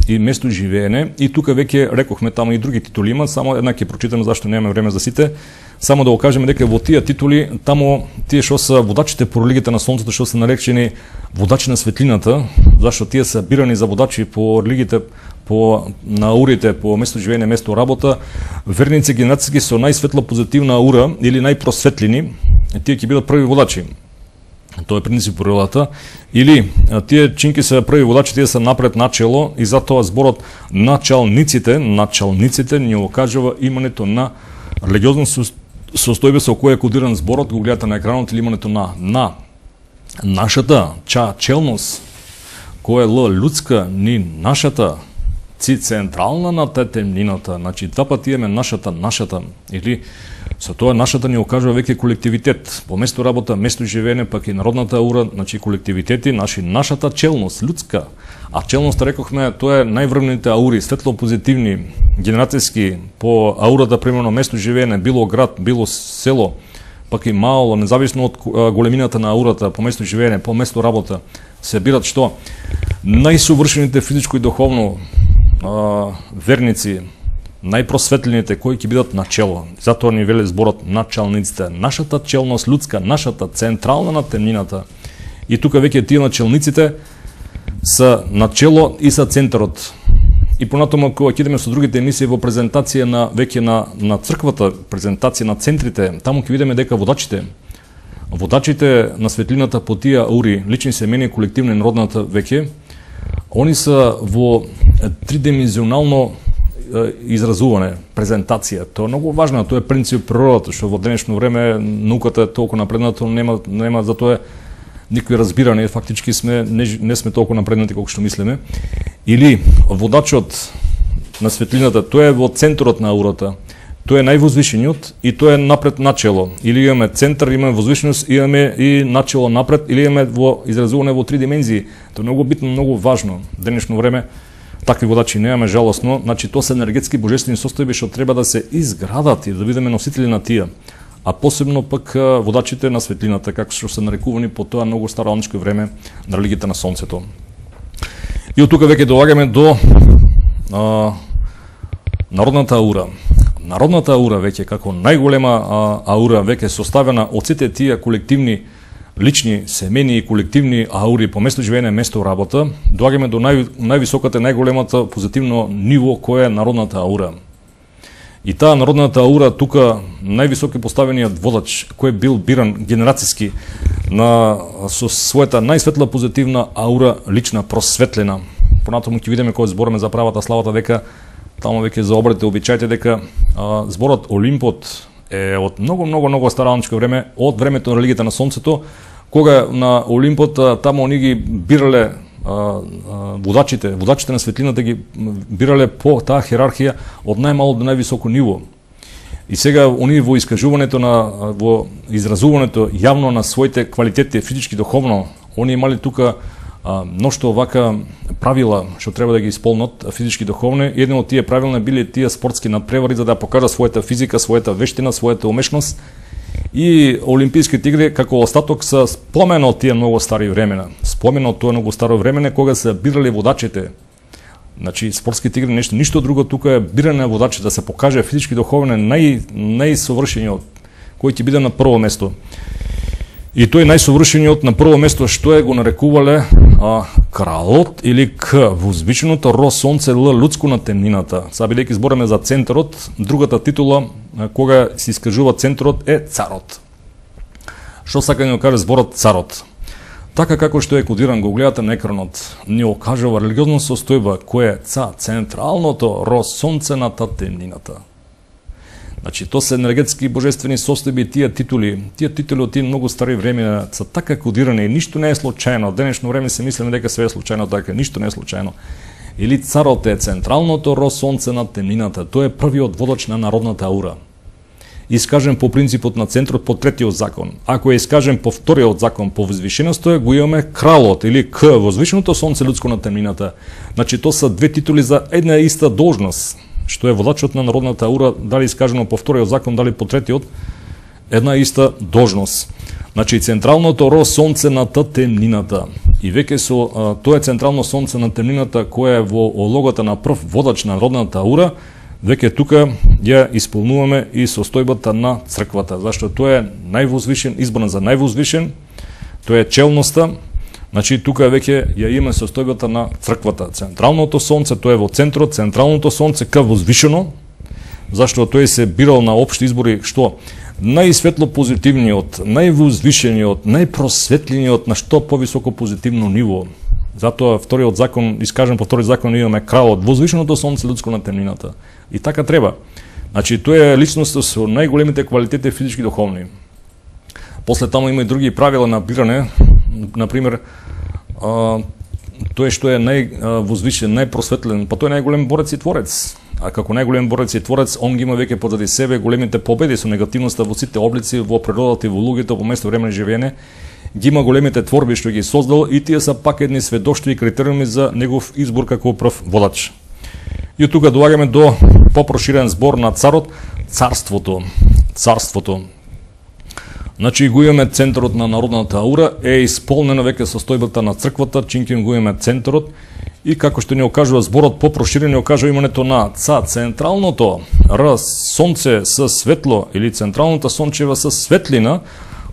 и место живеене, и тука веќе рекохме таму и други титули има, само една ќе прочитам зашто немаме време за сите. Само да го кажеме дека во тие титули, таму тие што се водачите по религијата на сонцето, што се наречени водачи на светлината, зашто тие се бирани за водачи по религиите, по наурите, по место живеене, место работа, верници генерацијски со најсветла позитивна аура или најпросветлени, тие ќе бидат први водачи. Тоа е принцип природата. Или тие чинки се први водачи, тие се напред начело, и затоа зборот началниците ни окажува имането на религиозно состојбе со кој е кодиран зборот, го гледате на екранот, или имането на нашата челност, која е лудска, ни нашата централна на темнината, значи два пати имаме нашата, или со тоа нашата ни окажува веќе колективитет, по место работа, место живеене, пак и народната аура, значи колективитети, нашата челност, людска. А челност, рекохме, тоа е најврвните аури, светло позитивни, генерацијски, по аурата, примерно, место живеене, било град, било село, пак и мало, независно од големината на аурата, по место живеене, по место работа, се бират што? Најсовршените физичко и духовно верници, најпросветлените кои ќе бидат начело. Затоа ни вели зборот началниците, нашата челност людска, нашата централна на темнината. И тука веќе тие начелниците са начело и са центарот. И понатома кога ќе идеме со другите емисии во презентација на веќе на црквата, презентација на центрите, таму ќе видиме дека водачите на светлината по тие аури, лични, семени, колективни, народната веќе, они са во тридимenzionално изразуване, презентација. Тоа е многу важно, тоа е принцип природата, што во денешно време науката е толку напредната, нема за тоа никој разбиране, фактички не сме толку напреднати колку што мислиме. Или водачот на светлината, тоа е во центарот на аурата. Тоа е највозвишениот и тоа е напред начело. Или имаме центар, имаме возвишеност, имаме и начело напред, или имаме во изразуване во три димензии. Тоа е многу битно, многу важно. В денешно време такви водачи немаме, жалосно. Значи, тоа се енергетски божествени состојби што треба да се изградат и да бидеме носители на тие. А посебно пак водачите на светлината, како што се нарекувани по тоа многу староаничко време на религијата на сонцето. И од тука веќе доаѓаме до народната аура. Народната аура веќе како најголема аура веќе составена од сите тие колективни, лични, семени и колективни аури по место живеене, место работа, доаѓаме до највисоката, најголемата позитивно ниво кој е народната аура. И таа народната аура тука највисоки поставениот водач кој бил биран генерацијски со својата најсветла позитивна аура, лична, просветлена. Понатаму ќе видиме кога збориме за правата славата дека таму веќе за обредите обичаите дека зборот Олимпот е од многу староаничко време, од времето на религијата на сонцето, кога на Олимпот таму они ги бирале водачите на светлината ги бирале по таа хиерархија од најмало до највисоко ниво. И сега они во искажувањето во изразувањето јавно на своите квалитети физички, духовно, они имали тука мношто вака правила што треба да ги исполнат физички, духовни. Едно од тие правила биле тие спортски надпревари за да покажат својата физика, својата вештина, својата умешност. И Олимписките игри како остаток се спомена од тие многу стари времена. Спомена од тоа многу старо време кога се бирали водачите. Значи спортските игри ништо друго, тука е биране на водачите да се покаже физички, духовно најсовршениот кој ќе биде на прво место. И тој најсовршениот на прво место што е го нарекувале кралот или возвишеното ро сонце лудско на темнината. Сега бидејќи збораме за центарот, другата титула кога се искажува центарот е царот. Што сака да ни каже зборот царот? Така како што е кодиран, го гледате на екранот, ни окажува религиозна состојба која е централното ро сонце на темнината. Значи, тоа се енергетски божествени состојби, тие титули од тие многу стари време се така кодирани и ништо не е случајно. Денешно време се мислиме дека све е случајно, така ништо не е случајно. Или царот е централното ро сонце на темнината, тој е првиот водач на народната аура. Искажен по принципот на центрот по третиот закон. Ако е искажен по вториот закон по возвишеноста, го имаме кралот или возвишеното сонце лудско на темнината. Значи, тоа се две титули за една и иста должност, што е водачот на народната аура, дали искажено по вториот закон, дали по третиот, една иста должност. Значи, централното ро сонце на темнината. и веќе со тоа централно сонце на темнината која е во ологата на прв водач на народната аура, веќе тука ја исполнуваме и состојбата на црквата, зашто тоа е највозвишен, избран за највозвишен, тоа е челноста. Значи тука веќе ја имаме состојбата на црквата. Централното сонце, тоа е во центрот, централното сонце ка возвишено, зашто тој се бирал на општи избори што најсветло позитивниот, највозвишениот, најпросветлениот на што повисоко позитивно ниво. Затоа вториот закон, искажен по втори закон, имаме кралот, возвишеното сонце луѓско на темнината. И така треба. Значи тоа е личност со најголемите квалитети физички и духовни. После таму има и други правила на биране, например, тој што е највозвишен, најпросветлен, па тој е најголем борец и творец. А како најголем борец и творец, он ги има веќе позади себе големите победи со негативноста во сите облици, во природата и во луѓето, во место време на живење. Ги има големите творби што ги создал и тие са пак едни сведоштви и критериуми за негов избор како прв водач. И од тука доаѓаме до попроширен збор на царот, царството. Царството. Значи го имаме центарот на народната аура, е исполнено веќе состојбата на црквата, чинким го имаме центарот и како што ни окажува зборот попроширен, ни окажува имането на централното сонце со светло или централната сончева со светлина,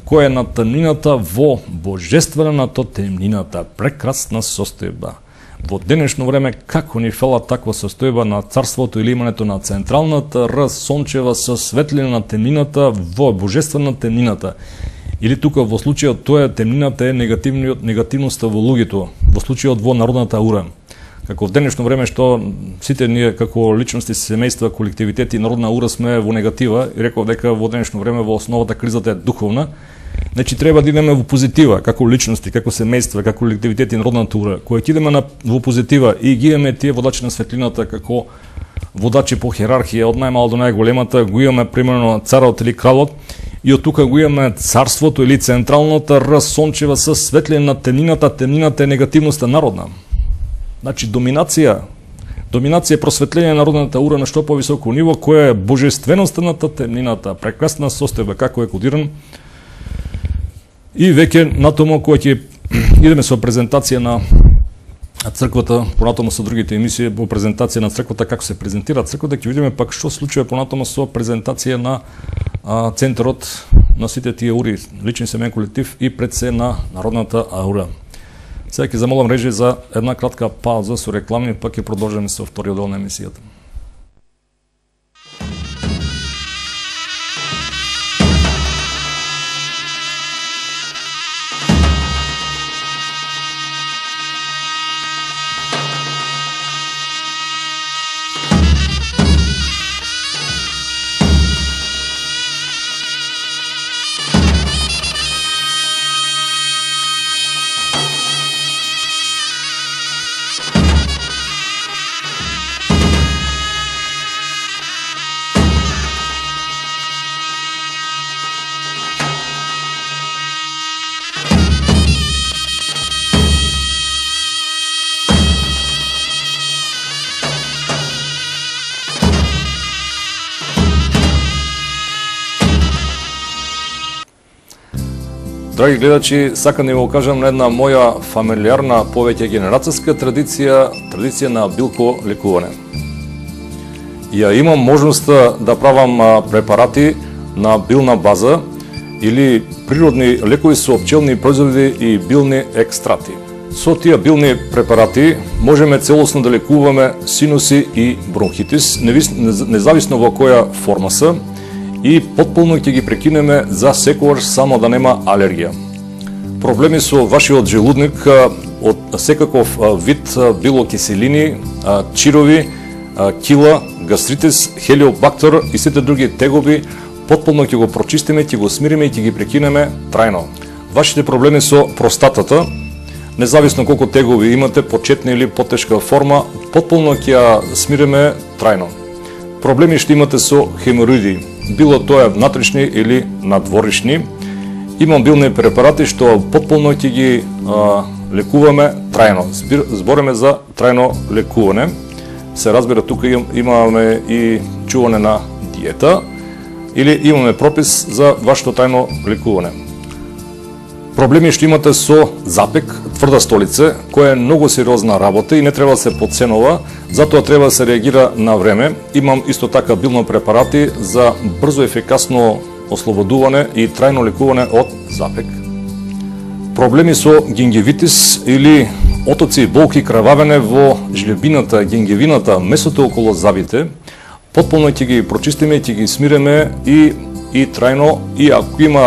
која е на темнината во божествената темнината, прекрасна состојба. Во денешно време како ни фала таква состојба на царството или имането на централната сончева со светлина на темнината во божествена темнината. Или тука во случајот тоа темнината е негативноста во луѓето, во случајот во народната аура. Како в денешно време што сите ние како личности, семејства, колективитети и народна аура сме во негатива, и реков дека во денешно време во основата кризата е духовна, значи треба да идеме во позитива, како личности, како семејства, како колективитети и народната аура. Кога ќе идеме во позитива и ги имаме тие водачи на светлината како водачи по хиерархија од најмало до најголемата, го имаме примерно царот или кралот, и од тука го имаме царството или централната сончева со светлина на темнината, темнината е негативноста народна. Значи доминација просветление на народната аура на што повисоко ниво, која е божественоста на темнината, прекрасна состојба како е кодиран. И веќе натаму кој ќе идеме со презентација на црквата, понатаму со другите емисии, во презентација на црквата, како се презентира црквата, ќе видиме пак што случува понатаму со презентација на центарот на сите тие аури, личен семеен колектив и пред се на народната аура. Сега ќе замолам режи за една кратка пауза со реклами, пак ќе продолжиме со вториот дел на емисијата. Драги гледачи, сакам да ви кажам на една моја фамилиарна, повеќе генерацијска традиција на билко лекување. Ја имам можноста да правам препарати на билна база или природни лекови со пчелни производи и билни екстрати. Со тие билни препарати можеме целосно да лекуваме синуси и бронхитис, независно во која форма се, и потполно ќе ги прекинеме за секогаш само да нема алергија. Проблеми со вашиот желудник од секаков вид, било киселини, чирови, кила, гастритис, хелиобактер и сите други тегоби, потполно ќе го прочистиме, ќе го смириме и ќе ги прекинеме трајно. Вашите проблеми со простатата, независно колку тегови имате, почетна или потешка форма, потполно ќе ја смириме трајно. Проблеми што имате со хемороиди, било тоа внатрешни или надворишни, имам билни препарати што потполно ќе ги лекуваме трајно. Збориме за трајно лекување. Се разбира, тука имаме и чување на диета или имаме пропис за вашето трајно лекување. Проблеми што имате со запек, тврда столица, која е многу сериозна работа и не треба да се подценува, затоа треба да се реагира на време. Имам исто така билно препарати за брзо и ефикасно ослободување и трајно лекување од запек. Проблеми со гингивитис или отоци и болки, крававење во жлебината, гингивината, месото околу зъбите, потполно ќе ги прочистиме, ќе ги смиреме и трајно, и ако има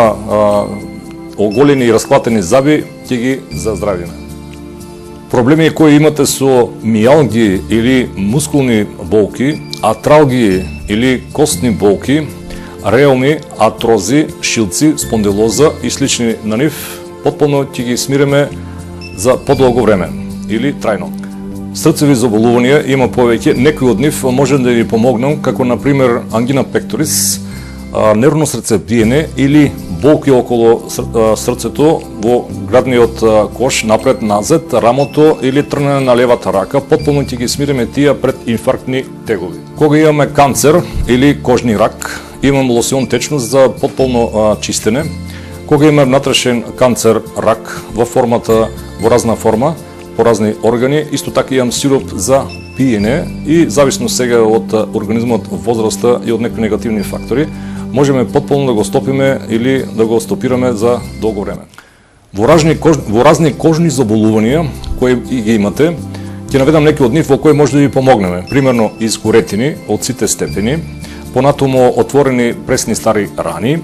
оголени и расклатени зъби, ќе ги заздравиме. Проблеми кои имате со мијалги или мускулни болки, артралги или костни болки, реуми, артрози, шилци, спондилоза и слични на нив, потполно ќе ги смиреме за подолго време или трајно. Срцеви заболувања има повеќе, некои од нив може да ви помогнам, како например ангина пекторис, нервно срцебиење или болки околу срцето во градниот кош, напред-назад, рамото или трнење на левата рака, потполно ќе ги смириме тие пред инфарктни тегови. Кога имаме канцер или кожни рак, имам лосион течност за потполно чистене. Кога имаме внатрешен канцер, рак во разна форма, по разни органи, исто така имам сироп за пиење и зависно сега од организмот, возраста и од некои негативни фактори, можеме потполно да го стопиме или да го стопираме за долго време. Во разни кожни заболувања кои ги имате, ќе наведам некои од нив во кои може да ви помогнеме. Примерно изгоретини од сите степени, понатомо отворени пресни стари рани,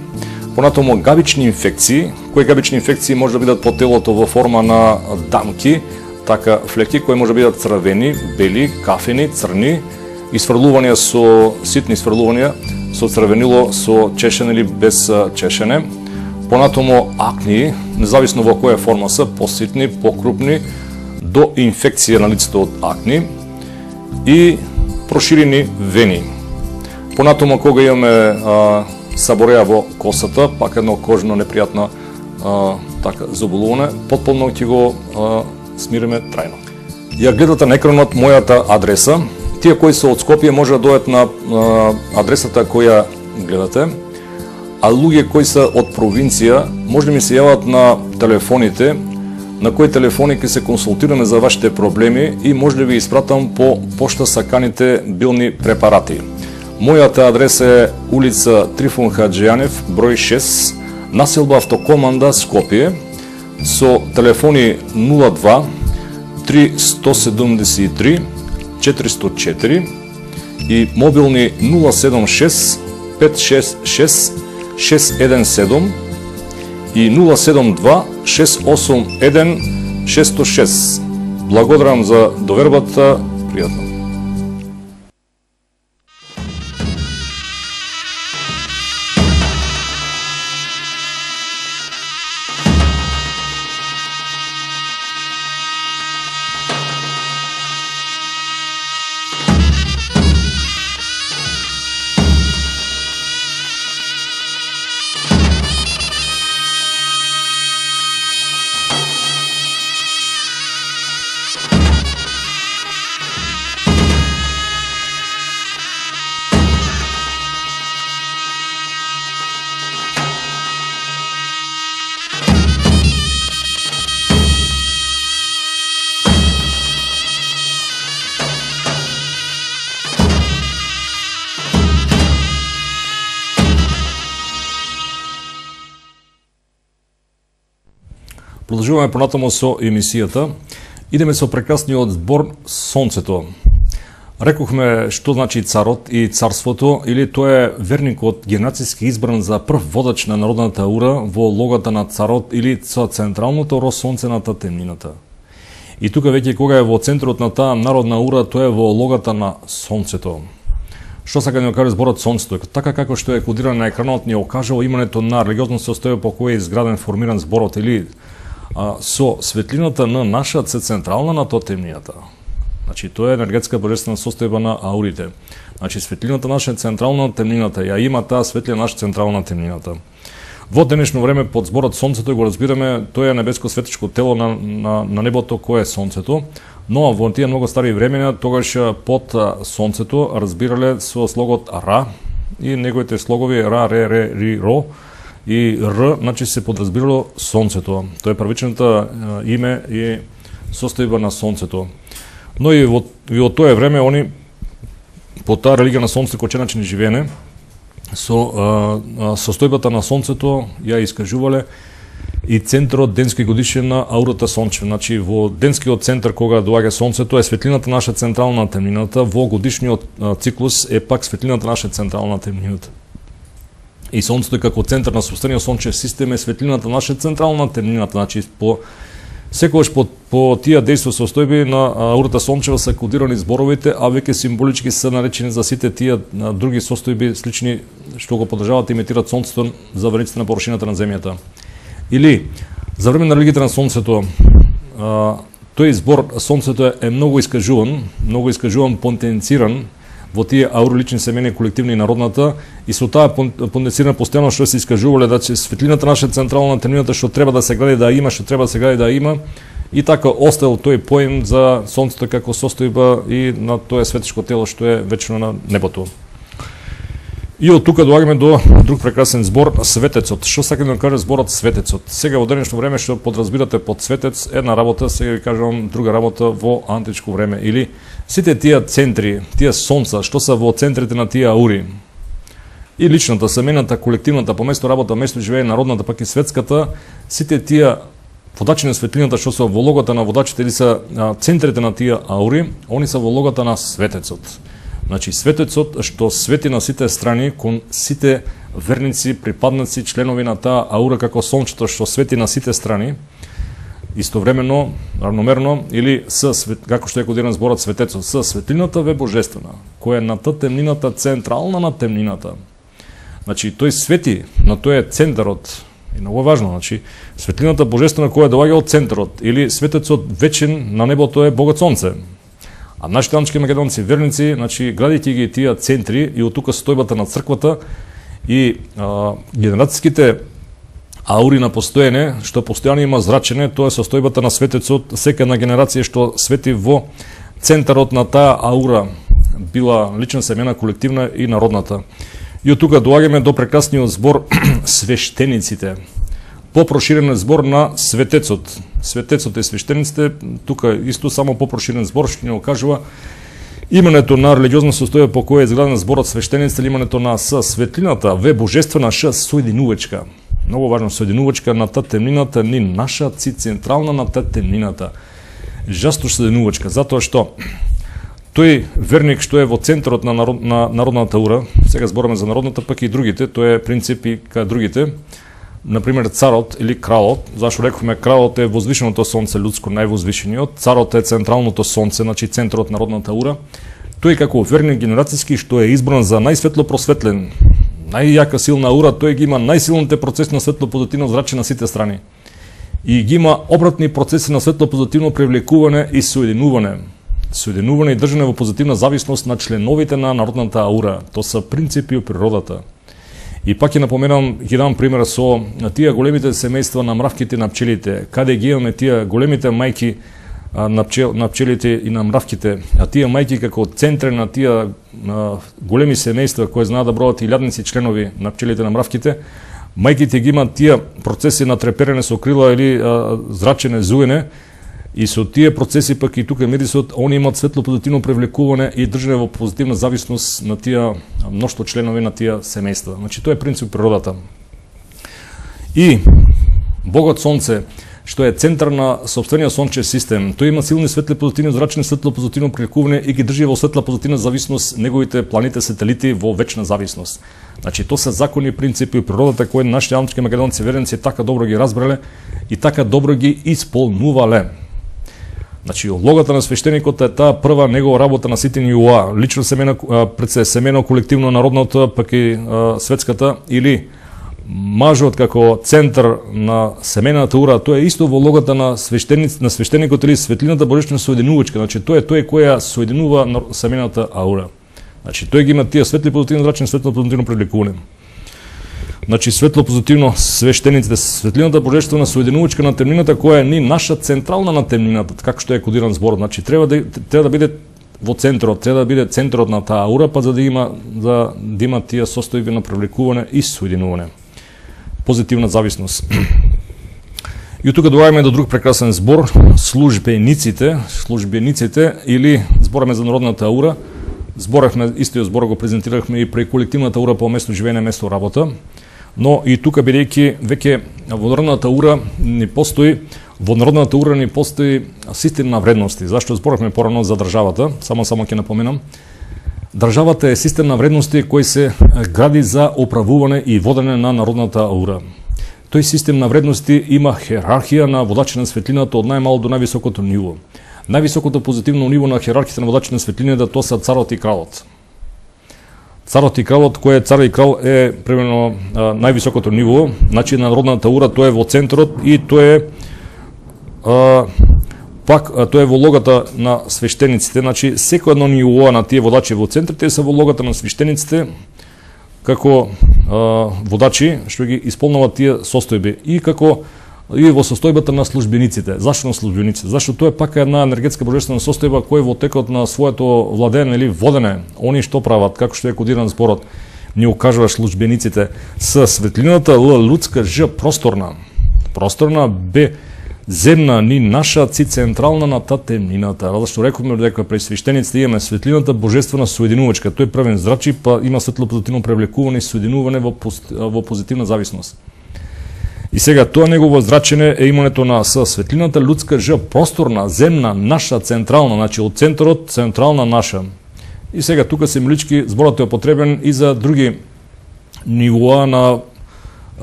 понатомо габични инфекции, кои габични инфекции може да бидат по телото во форма на дамки, така флеки кои може да бидат црвени, бели, кафени, црни, исфрлувања со ситни исфрлувања, со црвенило, со чешене или без чешене, понатомо акни, независно во која форма се, поситни, покрупни, до инфекција на лицето од акни и проширени вени. Понатомо кога имаме сабореја во косата, пак едно кожно непријатно заболување, потполно ќе го смириме трајно. Ја гледате на екранот мојата адреса. Тие кои се од Скопје може да дојдат на адресата која гледате, а луѓе кои се од провинција може да ми се јават на телефоните, на кои телефони ќе се консултираме за вашите проблеми и може да ви испратам по пошта саканите билни препарати. Мојата адреса е улица Трифун Хаджијанев, број 6, населба Автокоманда Скопје, со телефони 02 373 404 и мобилни 076 566 617 и 072 681 606. Благодарам за довербата, пријатно. Продолжуваме понатаму со емисијата. Идеме со прекрасниот збор Сонцето. Рекохме што значи царот и царството, или тој е верникот генерацијски избран за прв водач на народната ура во логата на царот или со централното росонцената темнината. И тука веќе кога е во центарот на таа народна ура, тој е во логата на сонцето. Што сака да ни каже зборот Сонцето? Така како што е кодиран на екранот, ни окажува имането на религиозно состојба по кој е изграден, формиран зборот, или со светлината на нашата се централна на тоа темнината. Значи, тоа е енергетска божествена состојба на аурите. Значи, светлината наша е централна на темнината, ја има таа светлина наша централна на темнината. Во денешно време под зборот Сонцето го разбираме, тоа е небеско светичко тело на небото кое е Сонцето, но во тие многу стари времена тогаш под Сонцето разбирале со слогот Ра и неговите слогови Ра, Ре, Ре, Ри, Ро, и Р, значи се подразбирало сонцето. Тоа е првичното име и состојба на сонцето. Но и во тоа време они по таа религија на сонцето кој начин живеене со состојбата на сонцето ја искажувале и центарот денски годишен на аурата сончева. Значи во денскиот центар кога доаѓа сонцето е светлината наша централна темнината, во годишниот циклус е пак светлината наша централна темнината. И сонцето како центар на собствениот сончев систем е светлината наша централна темнината. Значи секогаш по тие дејства состојби на аурата сончева се кодирани зборовите, а веќе символички се наречени за сите тие други состојби слични што го подржаваат и имитираат сонцето за враниците на површината на земјата. Или за време на религијата на сонцето, тој збор сонцето е многу искажуван, потенциран во тие ауролични семени, колективни и народната, и со таа потенцирана постојано што се искажувале да светлината наша централна темнината што треба да се гради да има, што треба да се гради да има, и така остал тој поим за сонцето како состојба и на тоа светешко тело што е вечно на небото. И од тука доаѓаме до друг прекрасен збор, светецот. Што сака да каже зборот светецот? Сега во денешно време што подразбирате под светец една работа, сега ви кажувам друга работа во античко време. Или сите тие центри, тие сонца, што се во центрите на тие аури, и личната, семената, колективната, поместо работа, место живее народната, пак и светската, сите тие водачи на светлината што се во логата на водачите или се центрите на тие аури, они се во логата на светецот. Значи, светецот што свети на сите страни, кон сите верници, припадници, членови на таа аура како сончето што свети на сите страни, истовремено, равномерно, или како што е кодиран зборот светецот, со светлината ве божествена, која е на темнината, централна на темнината. Значи, тој свети на тој е центарот, и многу важно, значи, светлината божествена која доаѓа од центарот, или светецот вечен на небото е Богот Сонце. А нашите антички македонци верници, значи, градите ги тие центри и од тука состојбата на црквата и генерацијските аури на постоење, што постојано има зрачене, тоа е состојбата на светецот, сека една генерација што свети во центарот на таа аура, била лична семена, колективна и народната. И од тука доаѓаме до прекрасниот збор свештениците. Попроширен збор на светецот. Светецот и свештениците, тука исто само попроширен збор што ни окажува имането на религиозна состојба по која е изграден зборот свештениците, имането на светлината, ве божествена соединувачка. Многу важно, соединувачка на та темнината, ни наша централна на та темнината. Жастош соединувачка, затоа што тој верник што е во центарот на народната аура, сега збораме за народната, пак и другите, тоа е принцип и кај другите, например царот или кралот, зашто рековме кралот е возвишеното сонце людско, највозвишениот, царот е централното сонце, значи центарот на народната аура, тој како верник генерацијски што е избран за најсветло просветлен, најјака силна аура, тој ги има најсилните процеси на светло-позитивно зраче на сите страни. И ги има обратни процеси на светло-позитивно привлекување и соединување. Соединување и држање во позитивна зависност на членовите на народната аура. Тоа се принципи од природата. И пак ќе напоменам, ќе дам пример со тие големите семејства на мравките и на пчелите, каде ги имаме тие големите мајки на пчелите и на мравките, а тие мајки како центри на тие големи семејства кои знаат да бројат илјадници членови на пчелите и на мравките, мајките ги имаат тие процеси на треперене со крила или зрачене, зуене, и со тие процеси пак и тука медисот, они имаат светло позитивно привлекување и држање во позитивна зависност на тие мноштво членови на тие семејства. Значи тоа е принцип природата. И Богот Сонце, што е центар на сопствениот сончев систем, тој има силни светли позитивни зрачни, светло позитивно привлекување и ги држи во светла позитивна зависност неговите планети, сателити во вечна зависност. Значи тоа се закони и принципи од природата кои нашите антички македонци верници така добро ги разбрале и така добро ги исполнувале. Значи, логата на свештеникот е таа прва негова работа на сите нивоа, лично семено, пред се семено, колективно, народното, пак и светската, или мажот како центар на семената ура, тоа е исто во логата на свештеникот или светлината божествена соединувачка, значи тоа е тој која соединува семената аура. Значи, тој ги има тие светли позитивно зрачни, светло позитивно привлекување. Значи, светло позитивно свештениците, светлината божествена соединувачка на темнината која е ни наша централна на темнината, како што е кодиран зборот. Значи, треба да биде во центарот, треба да биде центарот на таа аура, па за да има тие состојби на привлекување и соединување. позитивна зависност. И тука доаѓаме до друг прекрасен збор, службениците или збораме за народната аура. Зборевме, истиот збор го презентирахме и при колективната аура по место живење, место работа. Но и тука, бидејќи веќе во народната аура ни постои систем на вредности. Зашто зборевме порано за државата, само ќе напоменам. Државата е систем на вредности кој се гради за управување и водење на народната аура. Тој систем на вредности има херархија на водачи на светлината од најмало до највисокото ниво. Највисокото позитивно ниво на херархијата на водачи на светлината тоа се царот и кралот. Царот и кралот, кој е цар и крал, е примерно највисокото ниво, значи на народната аура тоа е во центарот и тоа е тоа е во логата на свештениците, значи секој едно ниво на тие водачи во центрите се во логата на свештениците како водачи што ги исполнуваат тие состојби и како и во состојбата на службениците. Зашто на службениците? Зашто тоа е пак една енергетска божествена состојба која во текот на своето владење или водење, они што прават, како што е кодиран зборот, ни укажува службениците с светлината Л лудска Ж просторна. Просторна Б земна ни наша ци централна на та темнината. Зашто рековме дека при свештениците имаме светлината божествена соединувачка. Тој правен зрачи, па има светло-позитивно привлекување и соединување во позитивна зависност. И сега тоа негово зрачење е имането на светлината лудска Ж просторна, земна, наша, централна, значи од центарот, централна, наша. И сега тука символички зборот е употребен и за други нивоа на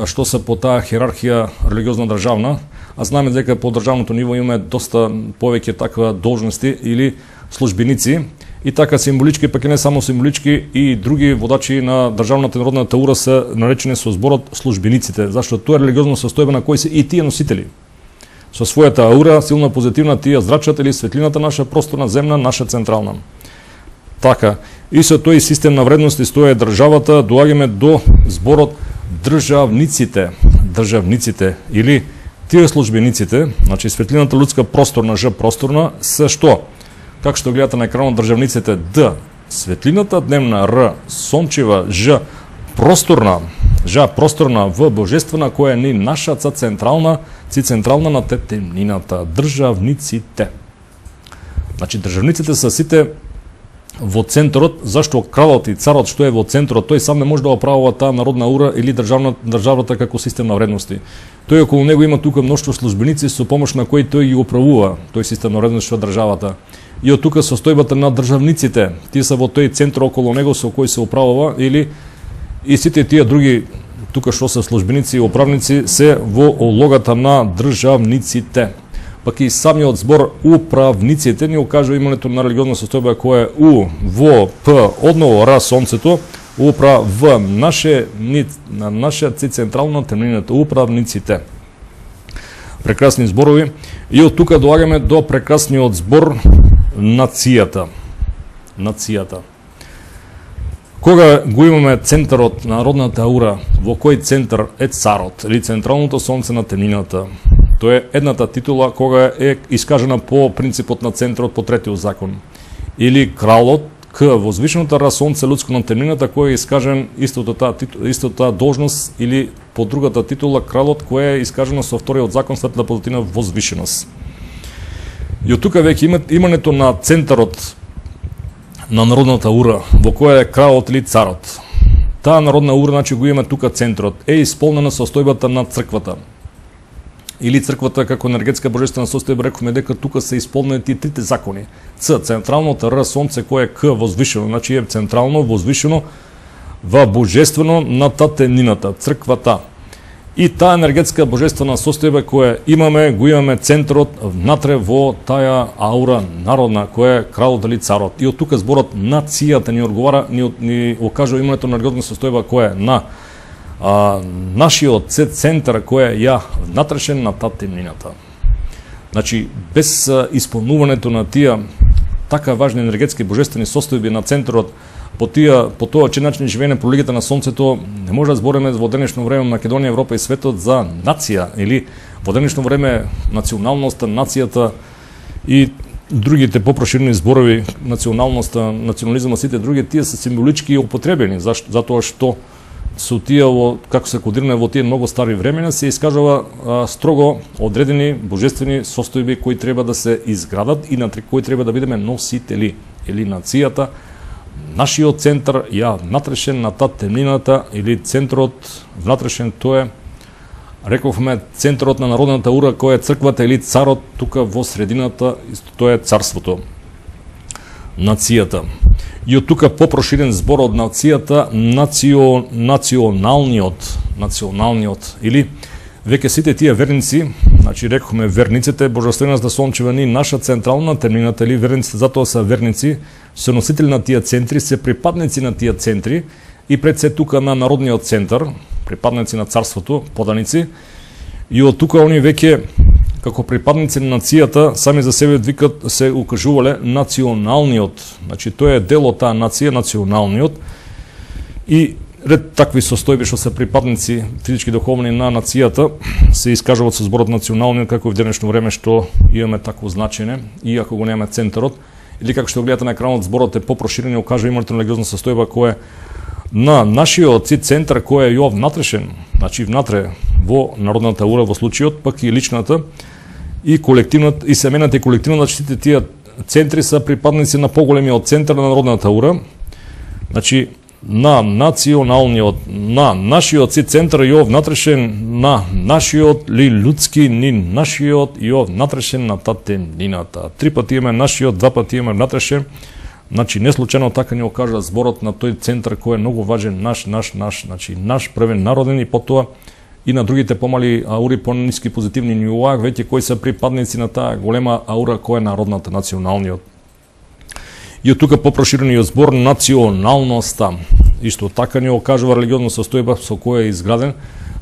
што се по таа херархија религиозна државна, а знаеме дека по државното ниво имаме доста повеќе таква должности или службеници, и така символички, пак и не само символички, и други водачи на државната народната аура се наречени со зборот службениците, зашто тоа е религиозно состојба на кои се и тие носители. Со својата аура, силна позитивна, тие зрачат или светлината наша, просторна, земна, наша, централна. Така, и со тој систем на вредности стоја државата, доаѓаме до зборот државниците, или тие службениците, значи светлината лудска просторна, Ж просторна, се што? Како што гледате на екранот, државниците Д светлината дневна, Р сончева, Ж просторна, В божествена, која ни наша ци централна на темнината, државниците. Значи државниците се сите во центарот, зашто кралот и царот што е во центарот, тој сам не може да оправува таа народна аура или државата како систем на вредности. Тој околу него има тука мноштво службеници со помош на кои тој ги управува тој систем на вредности што државата. И од тука состојбата на државниците, тие се во тој центар околу него со кој се управува, или и сите тие други тука што се службеници и управници се во улогата на државниците. Пак и самиот збор управниците ни укажува имането на религиозна состојба која е У, Во, П, одново Ра сонцето, управ, наше ци централна темнината, управниците. Прекрасни зборови. И од тука доаѓаме до прекрасниот збор нацијата. Кога го имаме центарот на народната аура, во кој центар е царот или централното сонце на темнината? Тоа е едната титула кога е искажена по принципот на центарот по третиот закон. Или кралот, К возвишеното Ра сонце лудско на темнината, кој е искажен истото таа должност, или по другата титула кралот, која е искажена со вториот закон светла позитивна возвишеност. И од тука веќе имането на центарот на народната аура, во која е кралот или царот. Таа народна аура, значи го има тука центарот, е исполнена состојбата на црквата. Или црквата како енергетска божествена состојба, рековме дека тука се исполнени тие трите закони. Ц, централното, Р, сонце, кој е К, возвишено, значи е централно, возвишено, во божествено на темнината, црквата. И таа енергетска божествена состојба која имаме, го имаме центарот внатре во таа аура народна, која е кралот или царот. И од тука зборот нацијата ни одговара, ни окажува имането на енергетска состојба која е на нашиот центар кој е ја внатрешен на таа темнината. Значи, без исполнувањето на тие така важни енергетски божествени состојби на центарот, по тоа че начин живеење по лигата на сонцето, не може да збориме во денешно време Македонија, Европа и светот за нација, или во денешно време националноста, нацијата и другите попроширени зборови, националноста, национализмот, сите други, тие се символички употребени, затоа што со тие како се кодиране во тие многу стари времена, се искажува строго одредени божествени состојби кои треба да се изградат и на кои треба да бидеме носители, или нацијата, нашиот центар ја внатрешен на таа темнината, или центарот внатрешен, тоа е, рековме, центарот на народната ура, кој е црквата или царот, тука во средината, тоа е царството, нацијата. И од тука попроширен збор од нацијата, националниот, или веќе сите тие верници, значи рековме верниците, божествената сончева ни наша централна темнината, или верниците затоа се верници, се носители на тие центри, се припадници на тие центри и пред се тука на народниот центар, припадници на царството, поданици, и од тука они веќе како припадници на нацијата сами за себе викат, се укажувале националниот, значи тој е дел од таа нација, националниот, и ред такви состојби што се припадници физички духовни на нацијата се искажуваат со зборот националниот, како и в денешно време што имаме такво значење, иако го немаме центарот, или како што гледате на екранот, зборот е попроширен и окажува името на религиозна состојба која на нашиот центар кој е ја внатрешен, значи внатре во народната ура во случајот, пак и личната и колективната и семената и колективната, сите тие центри се припадници на поголемиот центар на народната ура, значи на националниот, на нашиот центар ја внатрешен на нашиот ли людски ни нашиот ја внатрешен на таа темнината. 3 пати имаме нашиот, 2 пати имаме внатрешен. Значи, не случајно така ни окажа зборот на тој центар кој е многу важен, значи наш првен народен, и потоа и на другите помали аури, по-ниски позитивни нивоа, веќе кои се припадници на таа голема аура која е народната, националниот. И од тука попроширениот збор националноста. Исто така ни окажува религиозна состојба со која е изграден,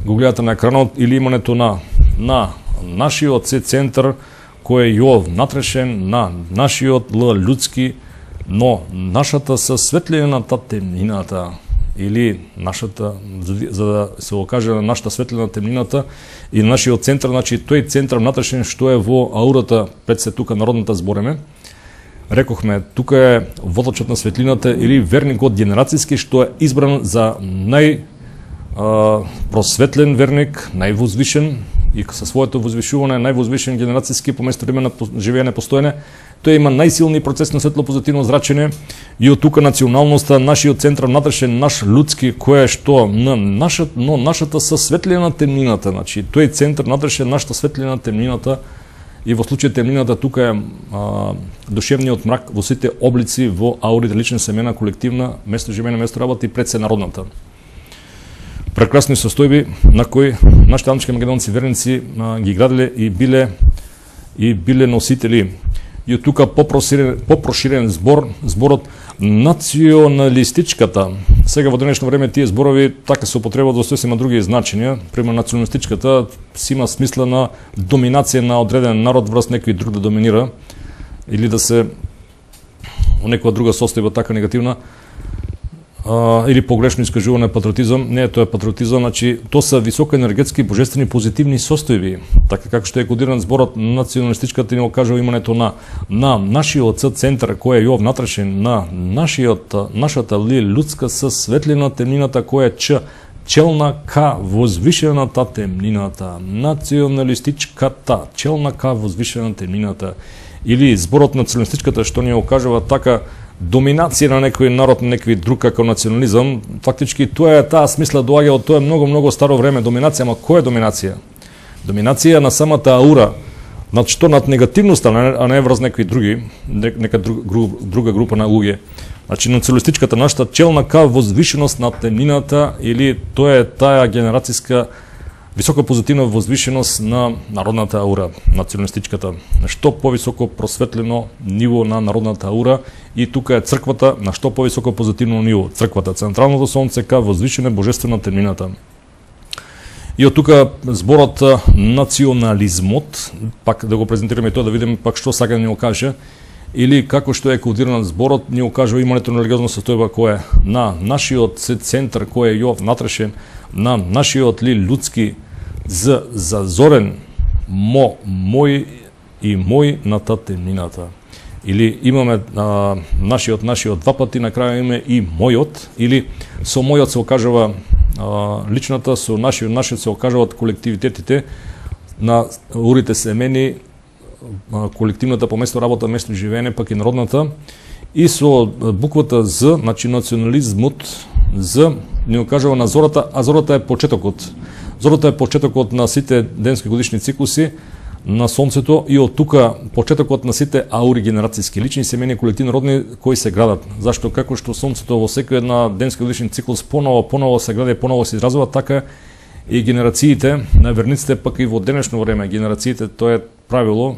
го гледате на екранот, или имането на нашиот центар кој е ја внатрешен на нашиот людски, но нашата със светлина на таа темнината, или нашата, за да се окаже на нашата светлина на темнината и нашиот центар, значи тој центар внатрешен што е во аурата, пред се тука народната збореме, рекохме, тука е водачот на светлината или верникот генерацијски што е избран за просветлен верник, највозвишен, и со своето возвишување највозвишен генерацијски по место време на живеење постоење, тој има најсилни процес на светло позитивно зрачење, и од тука националноста, нашиот центар внатрешен, наш людски, кој е што на нашата със светлина на темнината, значи тој центар внатрешен нашата светлина на темнината, и во случај темнината тука е душевниот мрак во сите облици, во аурите, лична, семена, колективна, место живеење, место работа и пред се народната. Прекрасни состојби на кои нашите анички македонци верници ги градиле и биле носители. И од тука попроширен зборот националистичката. Сега во денешно време тие зборови така се употребуваат во сосема други значења. Пример, националистичката си има смисла на доминација на одреден народ врз некој друг да доминира, или да се во некоја друга состојба така негативна, или погрешно искажување патриотизам. Не е тоа патриотизам, значи тоа се високоенергетски, божествени, позитивни состојби. Така како што е кодиран зборот националистичката ни окажува имането на нашиот центар кој е ја внатрешен на нашата людска със светлина темнината која е челна ка возвишената темнината. Националистичката челна ка возвишена темнината. Или зборот националистичката што ни окажува така доминација на некој народ, на некој друг како национализам, фактички тоа е таа смисла доаѓа од тоа многу старо време доминација, ама која е доминација? Доминација на самата аура, значи што над негативноста, а не врз некои други, нека друга група на луѓе. Значи националистичката нашата челна ка возвишеност на темнината, или тоа е таа генерацијска висока позитивна возвишеност на народната аура, националистичката. Што повисоко просветлено ниво на народната аура, и тука е црквата на што повисоко позитивно ниво. Црквата, централното сонце ка возвишена божествена темнината. И од тука зборот национализмот, пак да го презентираме тоа да видиме пак што сака да ни окаже, или како што е кодиран зборот, ни окажува имането на религиозна состојба која е на нашиот центар кој е ја внатрешен, на нашиот ли людски зазорен мој и мој на таа темнината. Или имаме нашиот два пати, на крај имаме и мојот, или со мојот се окажува личната со нашиот се окажуваат колективитетите на аурите семени, колективната по место работа, место живеење, пак и народната, и со буквата З, значи национализмот, З ни окажува на зората, а зората е почетокот. Зората е почетокот на сите денски годишни циклуси на Сонцето и од тука почетокот на сите аури генерацијски, лични, семени, колективни, родни кои се градат. Зашто како што Сонцето во секој една денски годишни циклус поново се гради, поново се изразува, така и генерациите на верниците, пак и во денешно време генерациите, тоа е правило,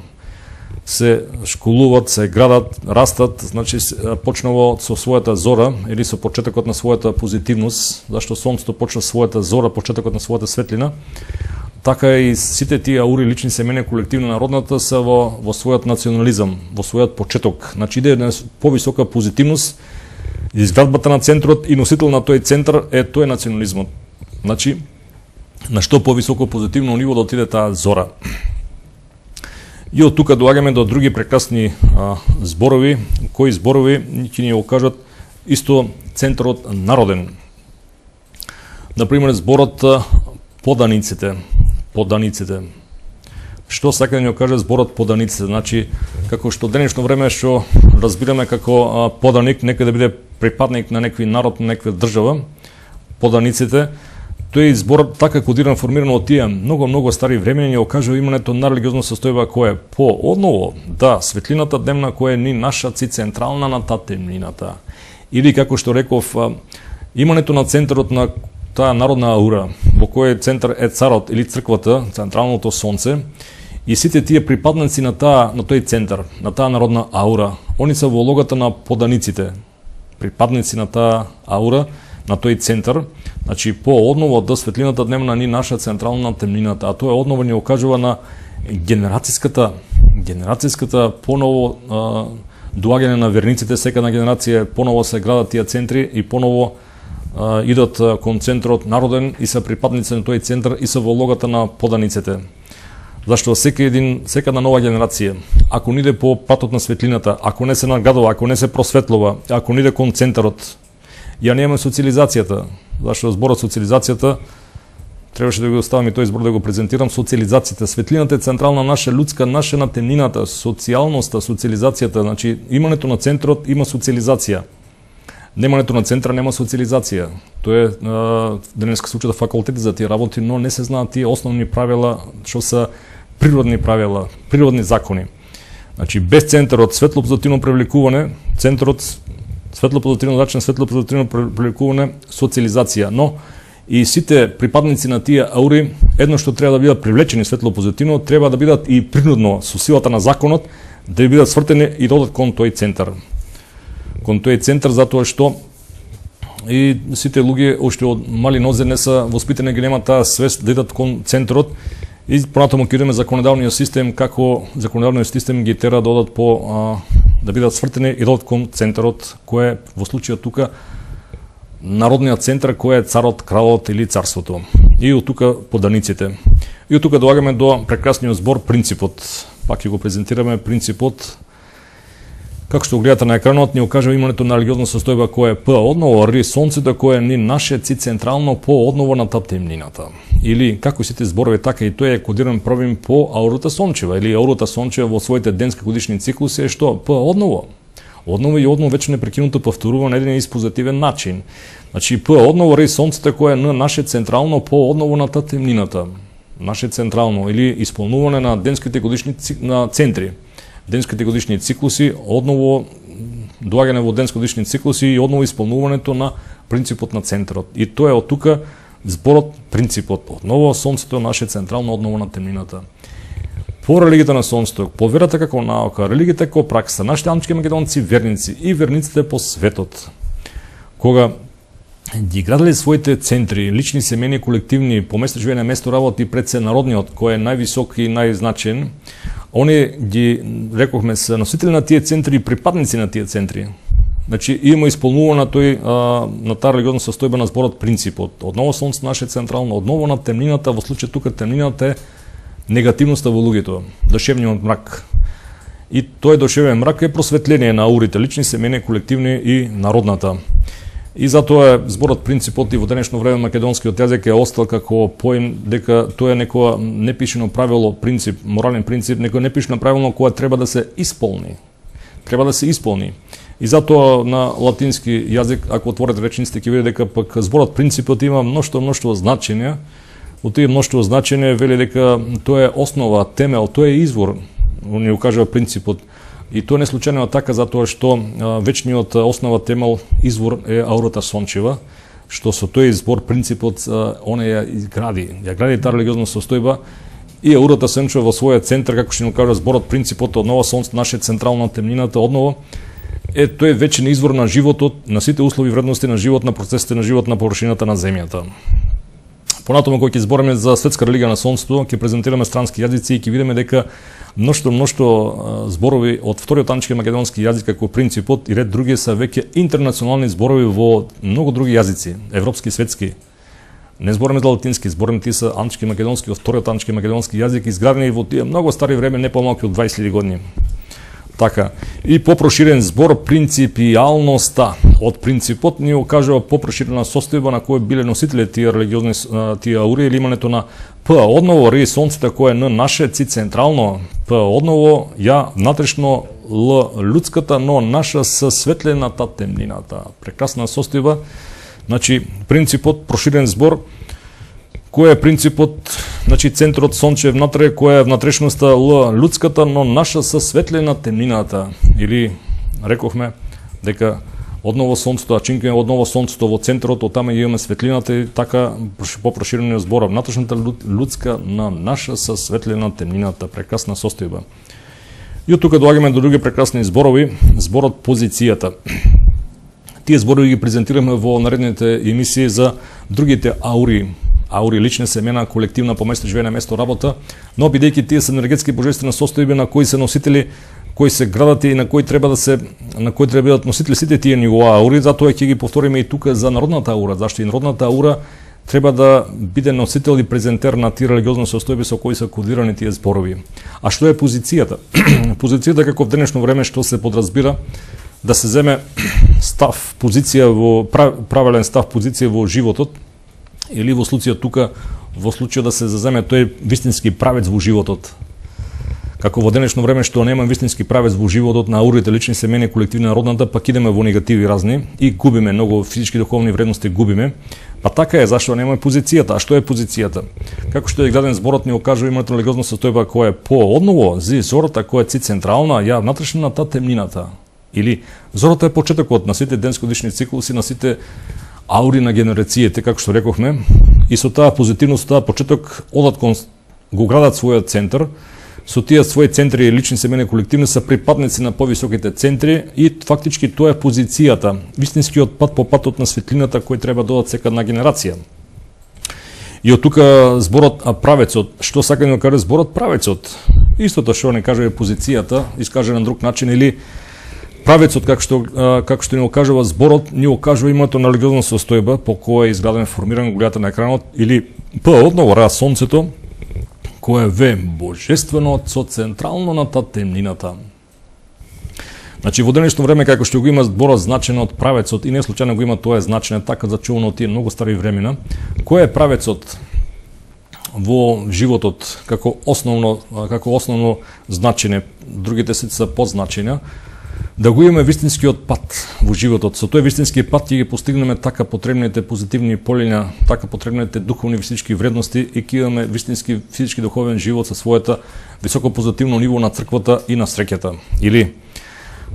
се школуват, се градат, растат, значи почнало со својата зора или со почетокот на својата позитивност, зашто Сонцето почна својата зора, почетокот на својата светлина, така и сите тие аури, лични, семени, колективни, народната се во својот национализам, во својот почеток. Значи иде една повисока позитивност, изградбата на центрот и носител на тој центар е тој национализмот. Значи, на што повисоко позитивно ниво да отиде таа зора. И од тука доаѓаме до други прекрасни зборови, кои зборови ќе ни окажат исто центарот народен. Например, зборот поданиците. Што сака да ни окаже зборот поданиците? Значи, како што денешно време што разбираме како поданик, некој да биде припадник на некој народ, на некоја држава, поданиците, тој збор така кодиран, формиран од тие многу стари времени, ни окажува имането на религиозна состојба која е по-одново, да, светлината дневна која е ни наша централна на таа темнината. Или како што реков, имането на центарот на таа народна аура, во кој центар е царот или црквата, централното сонце, и сите тие припадници на тој центар, на таа народна аура, они се во улогата на поданиците, припадници на таа аура, на тој центар, значи по-одново да светлината дневна ни наша централна на темнината, а тоа одново ни окажува на генерацијската поново доаѓање на верниците, секоја генерација поново се градат тие центри и поново идат кон центрот народен и се припадници на тој центар и се во улогата на поданиците. Зашто сека една нова генерација, ако не иде по патот на светлината, ако не се нагадува, ако не се просветлува, ако не иде кон центарот, ја немаме социализацијата, зашто зборот социализацијата требаше да го оставам и тој збор да го презентирам. Социализацијата, светлината е централна наша лудска, наша на темнината, социјалноста, социализацијата, значи имането на центарот има социализација. Немането на центра нема социализација. Тоа е денеска се учат факултети за тие работи, но не се знаат тие основни правила што се природни правила, природни закони. Значи без центарот светло-позитивно привлекување, центарот светло-позитивно начин, светло-позитивно привлекување, социализација, но и сите припадници на тие аури, едно што треба да бидат привлечени светло-позитивно, треба да бидат и принудно со силата на законот да бидат свртени и да одат кон тој центар. Кон тој центар затоа што и сите луѓе уште од мали нозе не се воспитани, ги немаат таа свест да идат кон центарот и понатаму ќе идеме законодавниот систем, како законодавниот систем ги тера да одат по да бидат свртени и да одат кон центарот, кој е во случајот тука народниот центар, кој е царот, кралот или царството. И од тука поданиците. И од тука доаѓаме до прекрасниот збор принципот. Пак ќе го презентираме принципот. Како што гледате на екранот, ни окажува имането на религиозна состојба која е по-одново, ри сонцето кој е ни наше централно по-одново на таа темнината. Или како сите зборови, така и тој е кодиран правим по аурата сончева, или аурата сончева во своите денски годишни циклуси е што? По-одново. Одново и одново веќе непрекинуто повторува на еден испозитивен начин. Значи по-одново ри сонцето кој е на наше централно по-одново на таа темнината. Наше централно или исполнување на денските годишни на центри. Денските годишни циклуси, одново доаѓање во денски годишни циклуси и одново исполнувањето на принципот на центарот. И тоа е од тука зборот принципот. Одново сонцето наше централно, одново на темнината. По религијата на сонцето, по верата како наука, религијата како пракса, нашите антички македонци верници и верниците по светот, кога ги градели своите центри, лични, семени, колективни, по место живење, место работа и пред се народниот, кој е највисок и најзначен, они ги, рекохме, се носители на тие центри и припадници на тие центри. Значи, има исполнува на на таа религиозна состојба на зборот принципот. Одново сонце наше централно, одново на темнината, во случај тука темнината е негативноста во луѓето, душевниот мрак. И тој душевен мрак е просветление на аурите, лични, семени, колективни и народната. И затоа зборот принципот и во денешно време македонскиот јазик е остал како поим дека тоа е некоја непишено правило, принцип, морален принцип, некој непишено правило кое треба да се исполни. Треба да се исполни. И затоа на латински јазик, ако отворите речениците, ќе видите дека пак зборот принципот има мношто значења. Од тие мношто значења вели дека тоа е основа, темел, тоа е извор, ни го кажува принципот. И тоа не случајно така затоа што вечниот основа, темел, извор е аурата сончева, што со тој збор принципот она ја изгради, ја гради таа религиозна состојба. И аурата сончева во својот центар, како што ни кажува зборот принципот, одново сонце, наше централна темнината, одново е тој вечен извор на животот, на сите услови и вредности на живот, на процесите на живот на површината на земјата. Понатаму кога ќе збориме за светска религија на сонцето, ќе презентираме странски јазици и ќе видиме дека мношто зборови од вториот антички македонски јазик како принципот и ред други се веќе интернационални зборови во многу други јазици, европски, светски. Не збориме за латински, збориме тие се антички македонски, од вториот антички македонски јазик, изградени во тие многу стари време, не помалку од 20.000 години. Така. И попроширен збор принципијалноста. Од принципот ни окажува попроширена состојба на кој биле носители тие религиозни тие аури или имането на П одново ри сонцето кое е Н наше ци централно, П одново ја внатрешно Л людската, но наша со светлената темнината. Прекрасна состојба. Значи принципот проширен збор. Кој е принципот, значи центарот сонче внатре, која е внатрешноста Л людската, но наша со светлена темнината. Или рековме дека одново сонцето, а чинка е одново сонцето во центарот, оттама имаме светлината и така попроширено збора. Внатрешната людска на наша со светлена темнината. Прекрасна состојба. И од тука доаѓаме до други прекрасни зборови, зборот позицијата. Тие зборови ги презентираме во наредните емисии за другите аури, лични семена, колективна по место живење, место работа, но бидејќи тие се енергетски божествени состојби на кои се носители, кои се градат и на кои треба да бидат носители сите тие нивоа аури, затоа ќе ги повториме и тука за народната аура, зашто и народната аура треба да биде носител и презентер на тие религиозни состојби со кои се кодирани тие зборови. А што е позицијата? Позицијата како в денешно време што се подразбира да се земе став, позиција во правилен став, позиција во животот, или во случајот тука, во случајот да се заземе тој вистински правец во животот. Како во денешно време што нема вистински правец во животот на аурите, лични семени, колективни народната, пак идеме во негативи разни и губиме многу физички духовни вредности, губиме. Па така е, зашто нема позицијата. А што е позицијата? Како што е граден зборот ни окажува името религиозна состојба која е по одново зи зората која е ци централна, ја внатрешната темнината. Или зората е почетокот на сите денско-годишни циклуси, на сите аури на генерациите, како што рековме, и со таа позитивност, таа почеток одат кон го градат својот центар, со тие своји центри лични семени колективни се припадници на повисоките центри и фактички тоа е позицијата, вистинскиот пат по патот на светлината кој треба додат секадна генерација. И од тука зборот правецот, што сака да каже зборот правецот? Истото што не кажува позицијата, искаже на друг начин, или правецот, како што ни окажува зборот, ни окажува името на религиозна состојба по која е изграден, формиран голјата на екранот, или П одново ра сонцето, кое е В божествено со централно на таа темнината. Значи во денешно време како што го има зборот значено од правецот и не случајно го има тоа значење така зачувано од тие многу стари времена, кој е правецот во животот како основно значење, другите се подзначења, да го имаме вистинскиот пат во животот. Со тој вистински пат ќе ги постигнеме така потребните позитивни полиња, така потребните духовни физички вредности и ќе имаме вистински физички духовен живот со својата високо позитивно ниво на црквата и на среќата. Или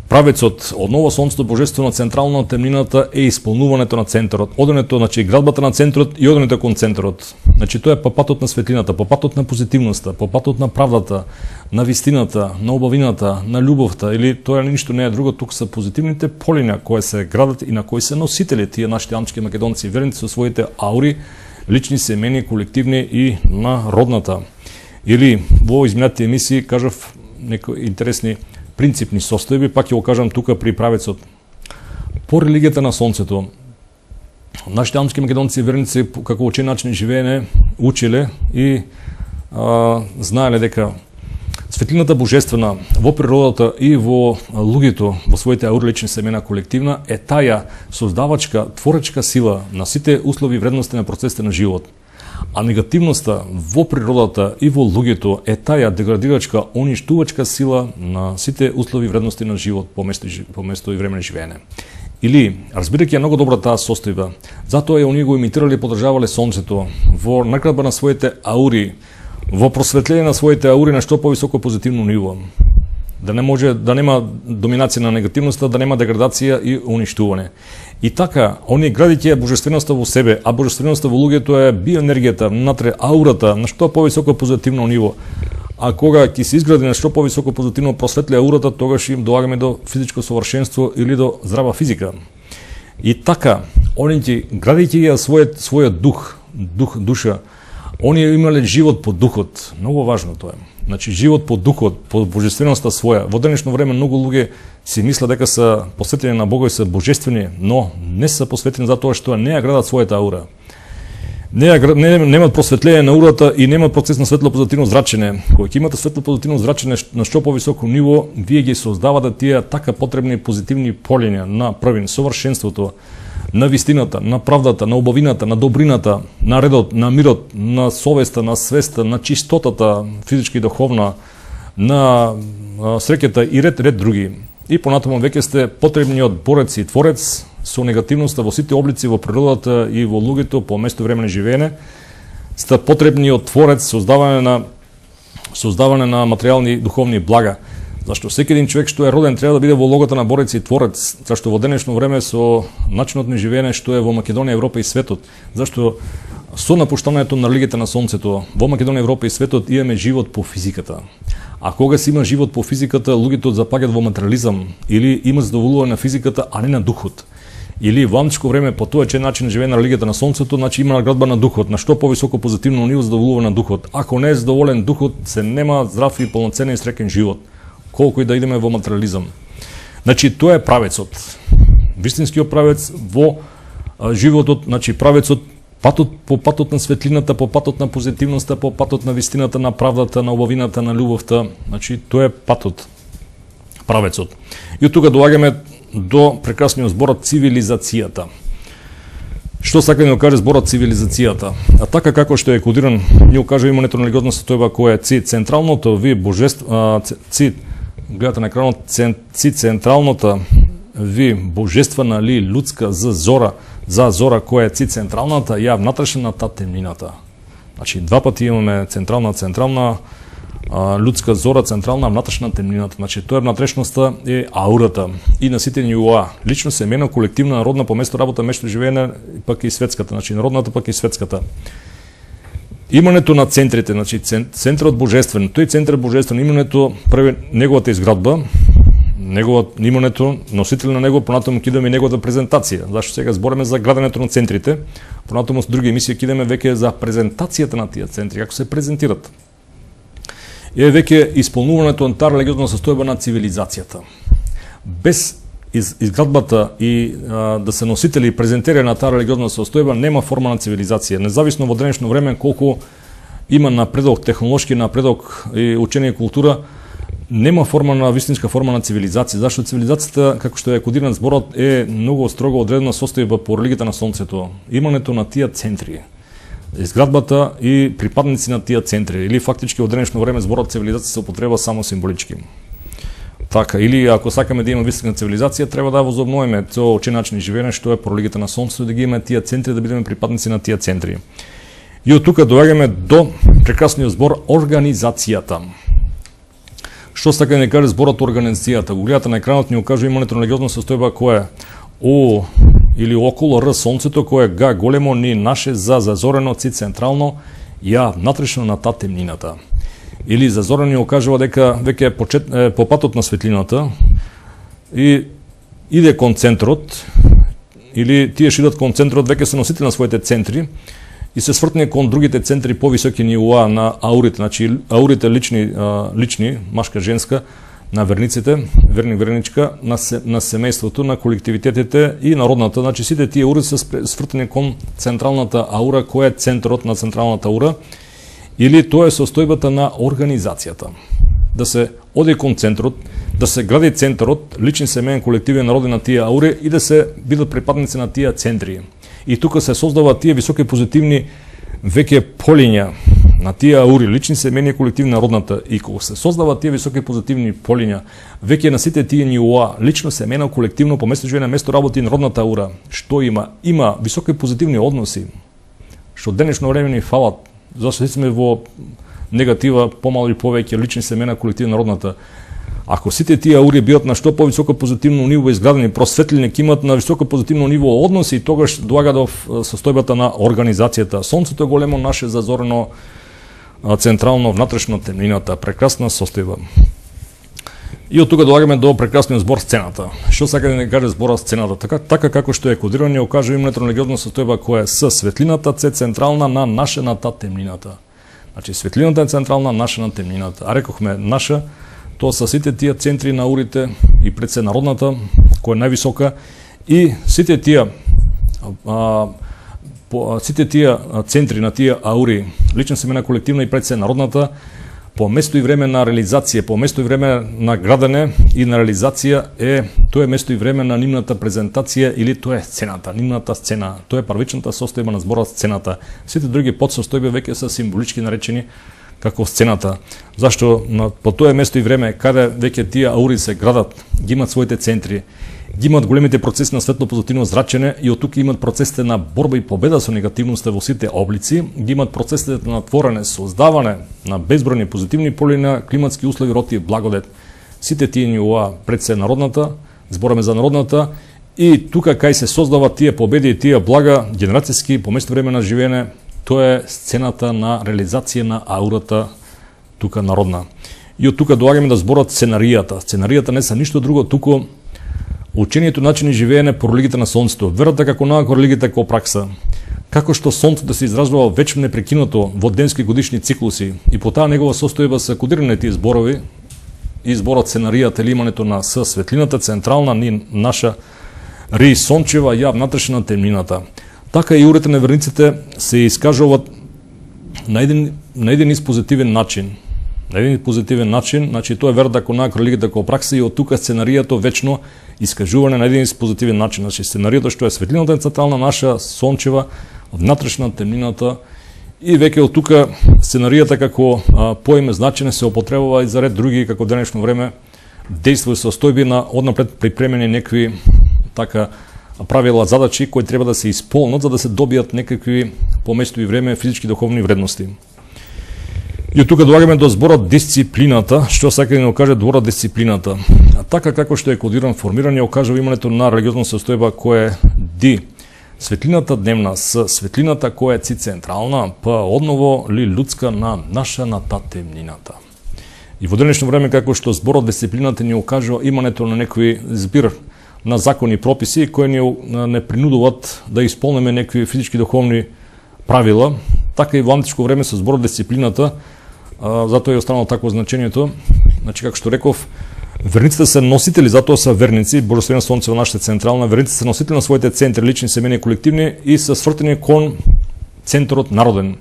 правецот, одново сонцето божествено централно на темнината е исполнувањето на центарот, одењето, значи градбата на центарот и одењето кон центарот. Значи тоа е по патот на светлината, по патот на позитивноста, по патот на правдата, на вистината, на убавината, на љубовта, или тоа ништо не е друго, тук се позитивните полиња кои се градат и на кои се носители тие нашите антички македонци верници со своите аури, лични семени, колективни и на родната. Или во изминатите емисии кажав некои интересни принципни состојби, пак ќе го кажам тука при правецот. По религијата на сонцето, нашите антички македонци верници како учен начин живеење учеле и знаеле дека светлината божествена во природата и во луѓето во своите ауралични семена колективна е таја создавачка, творечка сила на сите услови и вредности на процесите на живот. А негативноста во природата и во луѓето е таја деградирачка, уништувачка сила на сите услови и вредности на живот по место и време на живеење. Или, разбирајќи ја многу добра таа состојба, затоа оние го имитирале и подржавале сонцето во наградба на своите аури, во просветление на своите аури на што повисоко позитивно ниво. Да не може да нема доминација на негативноста, да нема деградација и уништување. И така, оние градиќе божественоста во себе, а божественоста во луѓето е биоенергијата, внатре аурата на што повисоко позитивно ниво. А кога ќе се изгради на што повисоко позитивно просветли аурата, тогаш им доаѓаме до физичко совршенство или до здрава физика. И така, оние градиќе ја својот душа, оние имале живот по духот. Многу важно тоа е. Значи, живот по духот, по божественоста своја. Во денешно време многу луѓе си мислат дека се посветени на Бога и се божествени, но не се посветени затоа што не ја градат својата аура. Немат просветление на аурата и немат процес на светло позитивно зрачење. Кога ќе имате светло позитивно зрачење на што повисоко ниво, вие ги создавате тие така потребни позитивни полиња на првин совршенството, на вистината, на правдата, на убавината, на добрината, на редот, на мирот, на совеста, на свеста, на чистотата, физичка и духовна, на среќата и ред други. И понатаму веќе сте потребниот борец и творец со негативноста во сите облици во природата и во луѓето по место време на живеење. Сте потребниот творец, создавање на материјални и духовни блага. Зашто секој един човек што е роден треба да биде во логата на борец и творец, зашто во денешно време со начинот на живеење што е во Македонија, Европа и светот, зашто со напуштањето на религијата на сонцето во Македонија, Европа и светот имаме живот по физиката. А кога се има живот по физиката, луѓето запаѓаат во материализам или има задоволување на физиката, а не на духот. Или во античко време по тој начин на живеење на религијата на сонцето, значи има наградба на духот, на што повисоко позитивно ниво задоволување на духот. Ако не е задоволен духот, се нема здрав и полноценен и среќен живот. Колку и да идеме во материализам. Значи, тоа е правецот. Вистинскиот правец во животот, значи правецот по патот на светлината, по патот на позитивноста, по патот на вистината, на правдата, на убавината, на љубовта. Значи, тоа е патот, правецот. И од тука доаѓаме до прекрасниот зборот цивилизацијата. Што сака да ни каже зборот цивилизацијата? А така како што е кодиран, ни кажа имането на религиозна состојба која е централното ви божество, гледате на екранот, централната ви божествена ли лудска за зора која е централната ја внатрешната темнината. Значи два пати имаме централна лудска зора, централна внатрешна темнината. Значи тоа е внатрешноста е аурата и на сите нивоа. Лично семено, колективна, народна, по место работа, место живеење, пак и светската, значи народната пак и светската. Имането на центрите, значи центарот божествен, тој центар божествен, имането први неговата изградба, имането, носител на него, понатаму ќе идеме неговата презентација. Зашто сега збореме за граденето на центрите, понатаму со други емисии ќе идеме веќе за презентацијата на тие центри, како се презентират. Е веќе исполнувањето на таа религиозна состојба на цивилизацијата. Без изградбата и да се носители и презентери на таа религиозна состојба нема форма на цивилизација. Независно во денешно време колку има напредок, технолошки напредок и учење и култура, нема вистинска форма на цивилизација. Зашто цивилизацијата, како што е кодиран зборот, е многу строго одредена состојба по религијата на сонцето. Имането на тие центри, изградбата и припадници на тие центри, или фактички во денешно време зборот цивилизација се употреба само символички. Така, или ако сакаме да има вистинска цивилизација, треба да возобновиме тоа учен начин живеење што е по религијата на сонцето, да ги имаме тие центри, да бидеме припадници на тие центри. И од тука доаѓаме до прекрасниот збор организацијата. Што сака да ни каже зборот организацијата? Го гледате на екранот, ни кажува имането на религиозна состојба која е О или околу Р сонцето, кој е Г големо, ни наше за зазорено, Ци централно, ја внатрешно на та темнината. Или зазорено ни окажува дека веќе е по патот на светлината и иде кон центрот, или тие што идат кон центрот веќе се носители на своите центри и се свртне кон другите центри повисоки нивоа на аурите, значи аурите лични, машка, женска, на верниците, верник, верничка, на семејството, на колективитетите и народната. Значи сите тие аури се свртени кон централната аура, која е центарот на централната аура, или тоа е состојбата на организацијата. да се оди кон центарот, да се гради центарот, личен, семеен, колективен, народен на тие аури и да се бидат припадници на тие центри. И тука се создава тие високи позитивни веќе полиња на тие аури, лични, семејни, колективни, народната. И кога се создава тие високи позитивни полиња, веќе на сите тие нивоа, лично, семејно, колективно, по место живење, место работи, народната аура, што има? Има високи позитивни односи, што денешно време ни фалат, зашто сме во негатива, помало или повеќе, лични, семејна, колективна, народната. Ако сите тие аури бидат на што повисоко позитивно ниво изградени, просветлени, ќе имат на високо позитивно ниво односи, и тогаш доаѓа до состојбата на организацијата. Сонцето е големо наше зазорено централно внатрешно темнината, прекрасна состојба. И од тука доаѓаме до прекрасниот збор сцената. Што сака да не каже зборот сцената? Така како што е кодирано, ја окажува името на религиозна состојба која е с светлината се централна на нашената темнината. Значи светлината е централна, нашена темнината. А рекохме наша, тоа са сите тие центри на аурите и пред се народната, која е највисока, и сите тие центри на тие аури, лична, семејна, колективна и пред се народната, по место и време на реализација, по место и време на градене и на реализација тоа е место и време на нивната презентација или тоа е сцената, нивната сцена, тоа е првичната состојба на зборот сцената. Сите други подсостојби веќе се символички наречени како сцената. Зашто по тоа место и време каде веќе тие аури се градат, ги имат своите центри, ги имат големите процеси на светло-позитивно зрачене и од тука имат процесите на борба и победа со негативноста во сите облици, ги имат процесите на творене, создаване на безбројни позитивни поли на климатски услови, род и благодет. Сите тие нивоа пред се народната, збораме за народната, и тука кај се создават тие победи и тие блага генерацијски по место време на живење, тоа е сцената на реализација на аурата тука народна. И од тука доаѓаме да зборот сценаријата. Сценаријата не са ништо друго, туку учението начини живеење по религијата на сонцето, верата како наука, религијата како пракса. Како што сонцето се изразува вечно непрекинато во денски годишни циклуси и по таа негова состојба се кодирани тие зборови и зборот сценаријата или имането на с светлината централна ни наша ри сончева ја внатрешна темнината. Така и аурите на верниците се искажуваат на еден позитивен начин. На еден позитивен начин, значи тоа е верата како наука, религијата како пракса, и од тука сценаријата вечно искажување на еден позитивен начин. Значи сценаријата што е светлината е централна, наша сончева, внатрешна темнината, и веќе од тука сценаријата како поиме значење се употребува и за ред други, како денешно време дејства и состојби на однапред припремени некакви така правила, задачи кои треба да се исполнат за да се добијат некакви по место и време физички духовни вредности. И од тука доаѓаме до зборот дисциплината, што сака да ни окаже зборот дисциплината. А така како што е кодиран, формиран, ја окажува имането на религиозна состојба која е ди. Светлината дневна с светлината која е централна, па одново ли людска на нашаната темнината. И во денешно време како што зборот дисциплината ни окажува имането на некои збир на закони и прописи кои ни не принудуваат да исполниме некои физички духовни правила, така и во античко време со зборот дисциплината, затоа е останало такво значењето. Значи, како што реков, верниците се носители, затоа се верници, Божествено сонце во нашата централна, верниците се носители на своите центри, лични, семејни, колективни, и се свртени кон центарот народен.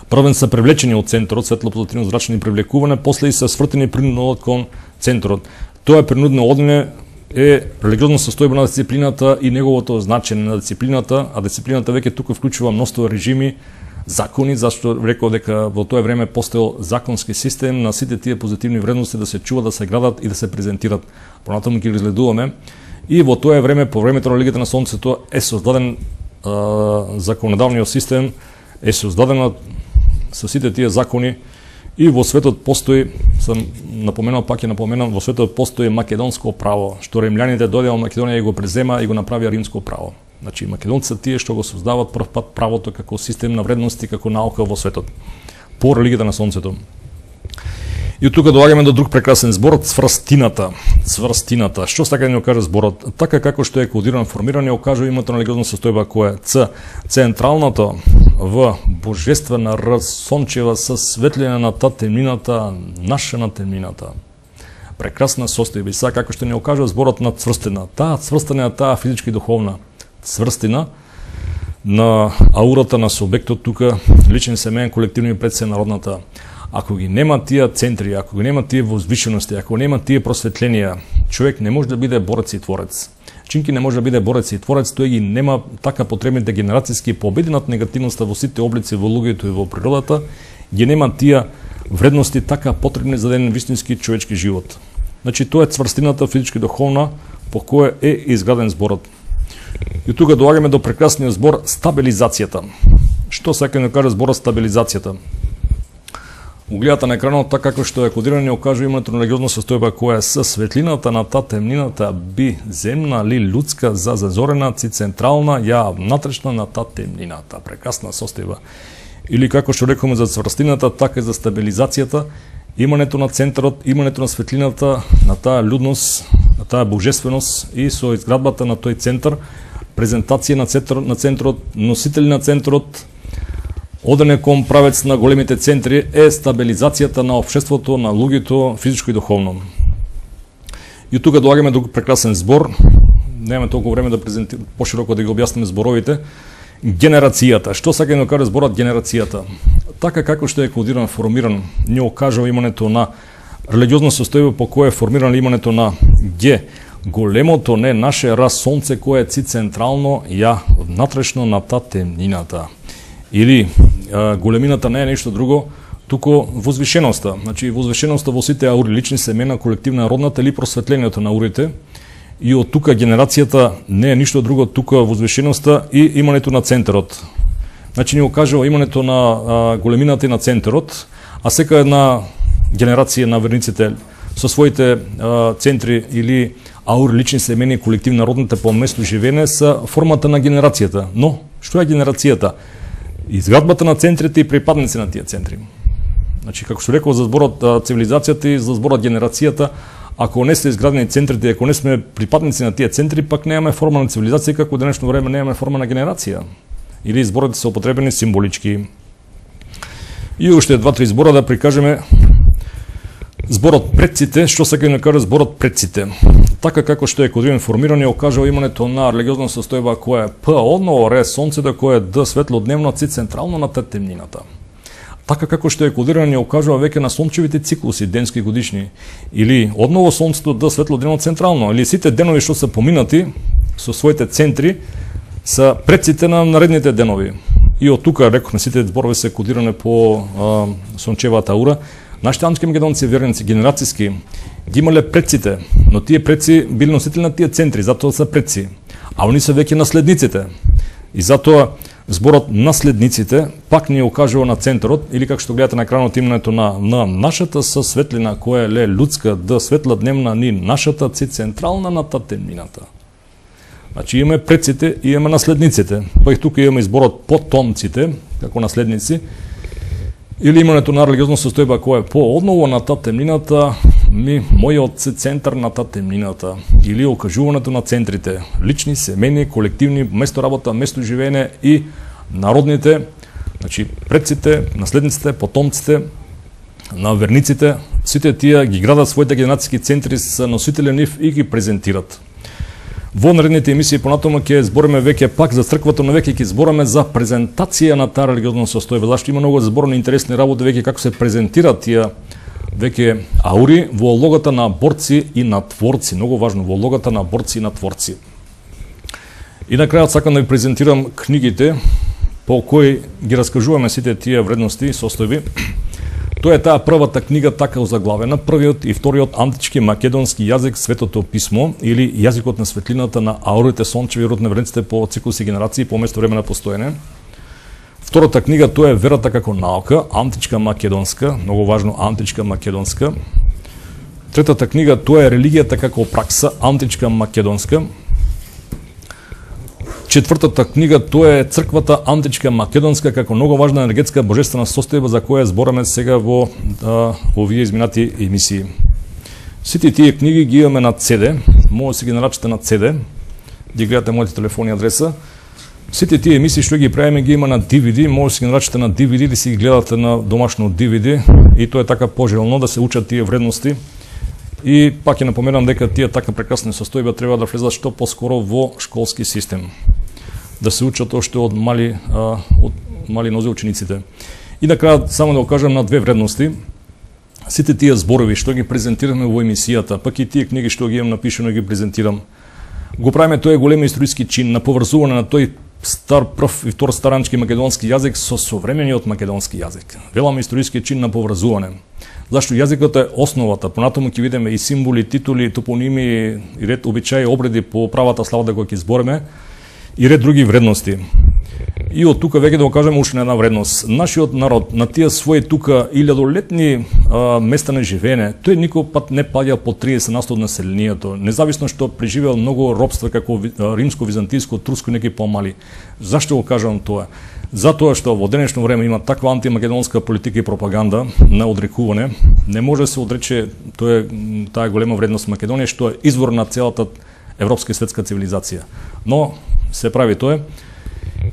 Првен се привлечени од центарот, светло-позитивно зрачени привлекување, после и се свртени принудно кон центарот. Тоа е принудно одење е религиозна состојба на дисциплината и неговото значење на дисциплината, а дисциплината веќе тука вклучува мноштво режими, закони, зашто рекол дека во тоа време постоел законски систем на сите тие позитивни вредности да се чуват, да се градат и да се презентират. Понатаму ќе ги разгледуваме. И во тоа време, по времето на религијата на сонцето, е создаден законодавниот систем, е создадена со сите тие закони, и во светот постои, сам напоменал, пак ќе напоменам, во светот постои македонско право, што римљаните дојдеа во Македонија и го презема и го направија римско право. Значи, македонците тие што го создават прв пат правото како систем на вредности, како наука во светот, по религијата на сонцето. И тука доаѓаме до друг прекрасен збор, цврстината. Цврстината. Што сака да ни окаже зборот? Така како што е кодиран, формиран, ја окажува името на религиозна состојба која е Ц. Централното в божествена сончева со светлина на та темнината, наша на темнината. Прекрасна состојба. И сега како што ни окажува зборот на цврстина. Таа цврстина е таа физички и духовна цврстина на аурата на субектот тука, личен, семеен, колективни пред се народната. Ако ги нема тие центри, ако ги нема тие возвишености, ако нема тие просветленија, човек не може да биде борец и творец. Чинки не може да биде борец и творец, тој ги нема така потребните генерацијски победи над негативноста во сите облици во луѓето и во природата, ги нема тие вредности така потребни за еден вистински човечки живот. Значи тоа е цврстината физички духовна по која е изграден зборот. И тука доаѓаме до прекрасниот збор стабилизацијата. Што сака да каже зборот стабилизацијата? Угледата на екранот, така како што е кодирано, ни окажува името на религиозна состојба која е светлината на та темнината би земна ли людска за зазорена ци централна ја внатрешна на та темнината. Прекрасна состојба. Или како што рекоме за цврстината, така и за стабилизацијата, имането на центарот, имането на светлината, на таа людност, на таа божественост и со изградбата на тој центар, презентација на центарот, носители на центарот, одене кон правец на големите центри е стабилизацијата на општеството, на луѓето, физичко и духовно. И тука доаѓаме до прекрасен збор, немаме толку време да пошироко да ги објасниме зборовите. Генерацијата. Што сака да каже зборот генерацијата? Така како што е кодиран, формиран, ни окажува имането на религиозна состојба по која е формирано имането на Г. Големото не наше раз сонце кое е централно ја внатрешно на та темнината. Или големината не е нешто друго, туку возвишеноста. Значи возвишеноста во сите аури, лични семена, колективна родната или просветлението на аурите. И од тука генерацијата не е ништо друго, тука возвишеноста и имането на центарот. Значи ни окажува имането на големината и на центарот, а сека една генерација на верниците со своите центри или аури, лични семени, колективна родната по место живеене са формата на генерацијата. Но, што е генерацијата? Изградбата на центрите и припадници на тие центри. Значи, како што рекол за зборот цивилизацијата и за зборот генерацијата, ако не се изградени центрите, ако не сме припадници на тие центри, пак немаме форма на цивилизација, како денешно време немаме форма на генерација. Или зборите се употребени символички. И уште два-три збора да прикажеме зборот предците, што сака да каже зборот предците. Така како што е кодиран формиран, окажува имането на религиозна состојба која е П одно ре сонцето кое е Д светлодневно ци централно на темнината. Така како што е кодиран, окажува веќе на сончевите циклуси, денски годишни, или одново сонцето Д светлодневно централно, или сите денови што се поминати со своите центри са предците на наредните денови. И од тука рековме сите зборови се кодирани по сончевата аура. Нашите антички македонци верници генерацијски ги имале предците, но тие предци били носители на тие центри, затоа се предци. А они се веќе наследниците. И затоа зборот наследниците пак ни окажува на центарот, или како што гледате на екранот името на нашата со светлина која е ле людска, Д светла дневна ни нашата ци централна на та темнината. Значи имаме предците и имаме наследниците. Па и тука имаме зборот потомците, како наследници, или имането на религиозна состојба која е по одново на та темнината, мојот се центар на та темнината, или окажуването на центрите, лични, семени, колективни, место работа, место живеене и народните, значи предците, наследниците, потомците на верниците, сите тие ги градат своите генерацијски центри со носители нив и ги презентират. Во наредните емисии понатаму ќе збориме веќе пак за црквата, но веќе ќе збориме за презентација на таа религиозна состојба. Зашто има многу зборни интересни работи веќе како се презентираат тие веќе аури во улогата на борци и на творци. Многу важно, во улогата на борци и на творци. И на крајот сакам да ви презентирам книгите по кои ги раскажуваме сите тие вредности и состојби. Тоа е таа првата книга така озаглавена, првиот и вториот антички македонски јазик Светото писмо или јазикот на светлината на аурите, сончеви и родни вредниците по циклуси генерации по место време на постоење. Втората книга тоа е Верата како наука, античка македонска, многу важно античка македонска. Третата книга тоа е Религијата како пракса, античка македонска. Четвртата книга тоа е Црквата античка македонска како многу важна енергетска божествена состојба за која збораме сега во овие изминати емисии. Сите тие книги ги имаме на CD, може да си ги нарачате на CD, ги гледате моите телефони адреса. Сите тие емисии што ги правиме ги има на DVD, може да си ги нарачате на DVD или си ги гледате на домашно DVD и тоа е така пожелно да се учат тие вредности. И пак ја напоменам дека тие така прекрасни состојби треба да влезат што поскоро во школски систем. Да се учат оште од мали нозе учениците. И на крај само да окажам на две вредности. Сите тие зборови што ги презентираме во емисијата, пак и тие книги што ги имам напишано ги презентирам, го правиме тој голем историски чин на поврзување на тој стар прв и втор старанчки македонски јазик со современиот македонски јазик. Велам историски чин на поврзување. Зашто јазикот е основата, понатаму ќе видиме и символи, титули, топоними, и ред обичаи, обреди по правата слава кои ќе збориме, и ред други вредности. И од тука веќе да го кажеме уште една вредност. Нашиот народ на тие своји тука илјадолетни места на живеење, тој никој пат не паѓа по 30% од населението, независно што преживеал многу робства како римско, византиско, турско, неки помали. Зашто го кажам тоа? Затоа што во денешно време има таква антимакедонска политика и пропаганда на одрекување, не може да се одрече таа голема вредност Македонија што е извор на целата европска и светска цивилизација. Но се прави тоа.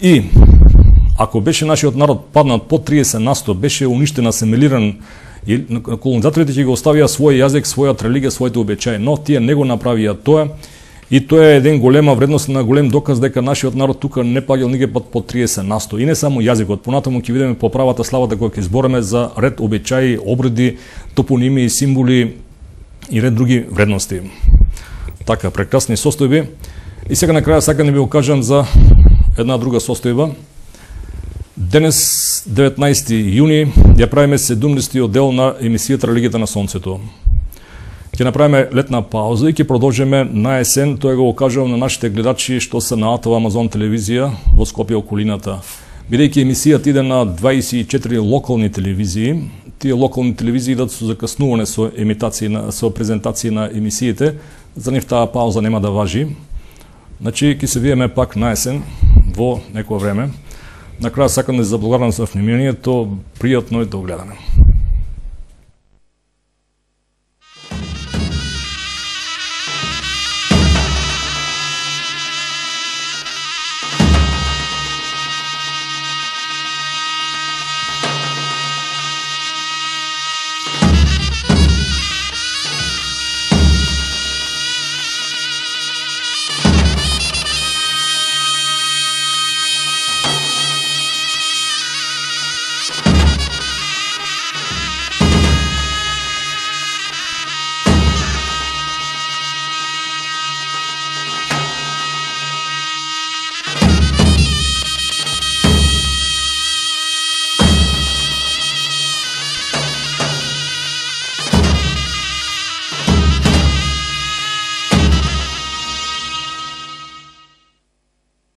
И ако беше нашиот народ паднат по 30%, беше уништен, асимилиран, и колонизаторите ќе го оставија свој јазик, својата религија, своите обичаи, но тие не го направија тоа. И тоа е еден голема вредност на голем доказ дека нашиот народ тука не паѓал никој пат по 30%. И не само јазикот, понатаму ќе видиме по правата славата која ќе збореме за ред обичаи, обреди, топоними, символи и ред други вредности. Така, прекрасни состојби. И сега на крај сакам да ви го кажам за една друга состојба. Денес, 19 јуни, ја правиме 70-тиот дел на емисијата Религијата на Сонцето. Ќе направиме летна пауза и ќе продолжиме на есен, тоа го кажувам на нашите гледачи што се на АТВ Амазон телевизија во Скопје околината. Бидејќи емисијата иде на 24 локални телевизии, тие локални телевизии идат со закаснување со емитации, со презентации на емисиите, за нив таа пауза нема да важи. Значи, ќе се видиме пак на есен, во некој време. На крај сакам да се заблагодарам за вниманието, пријатно и до гледане.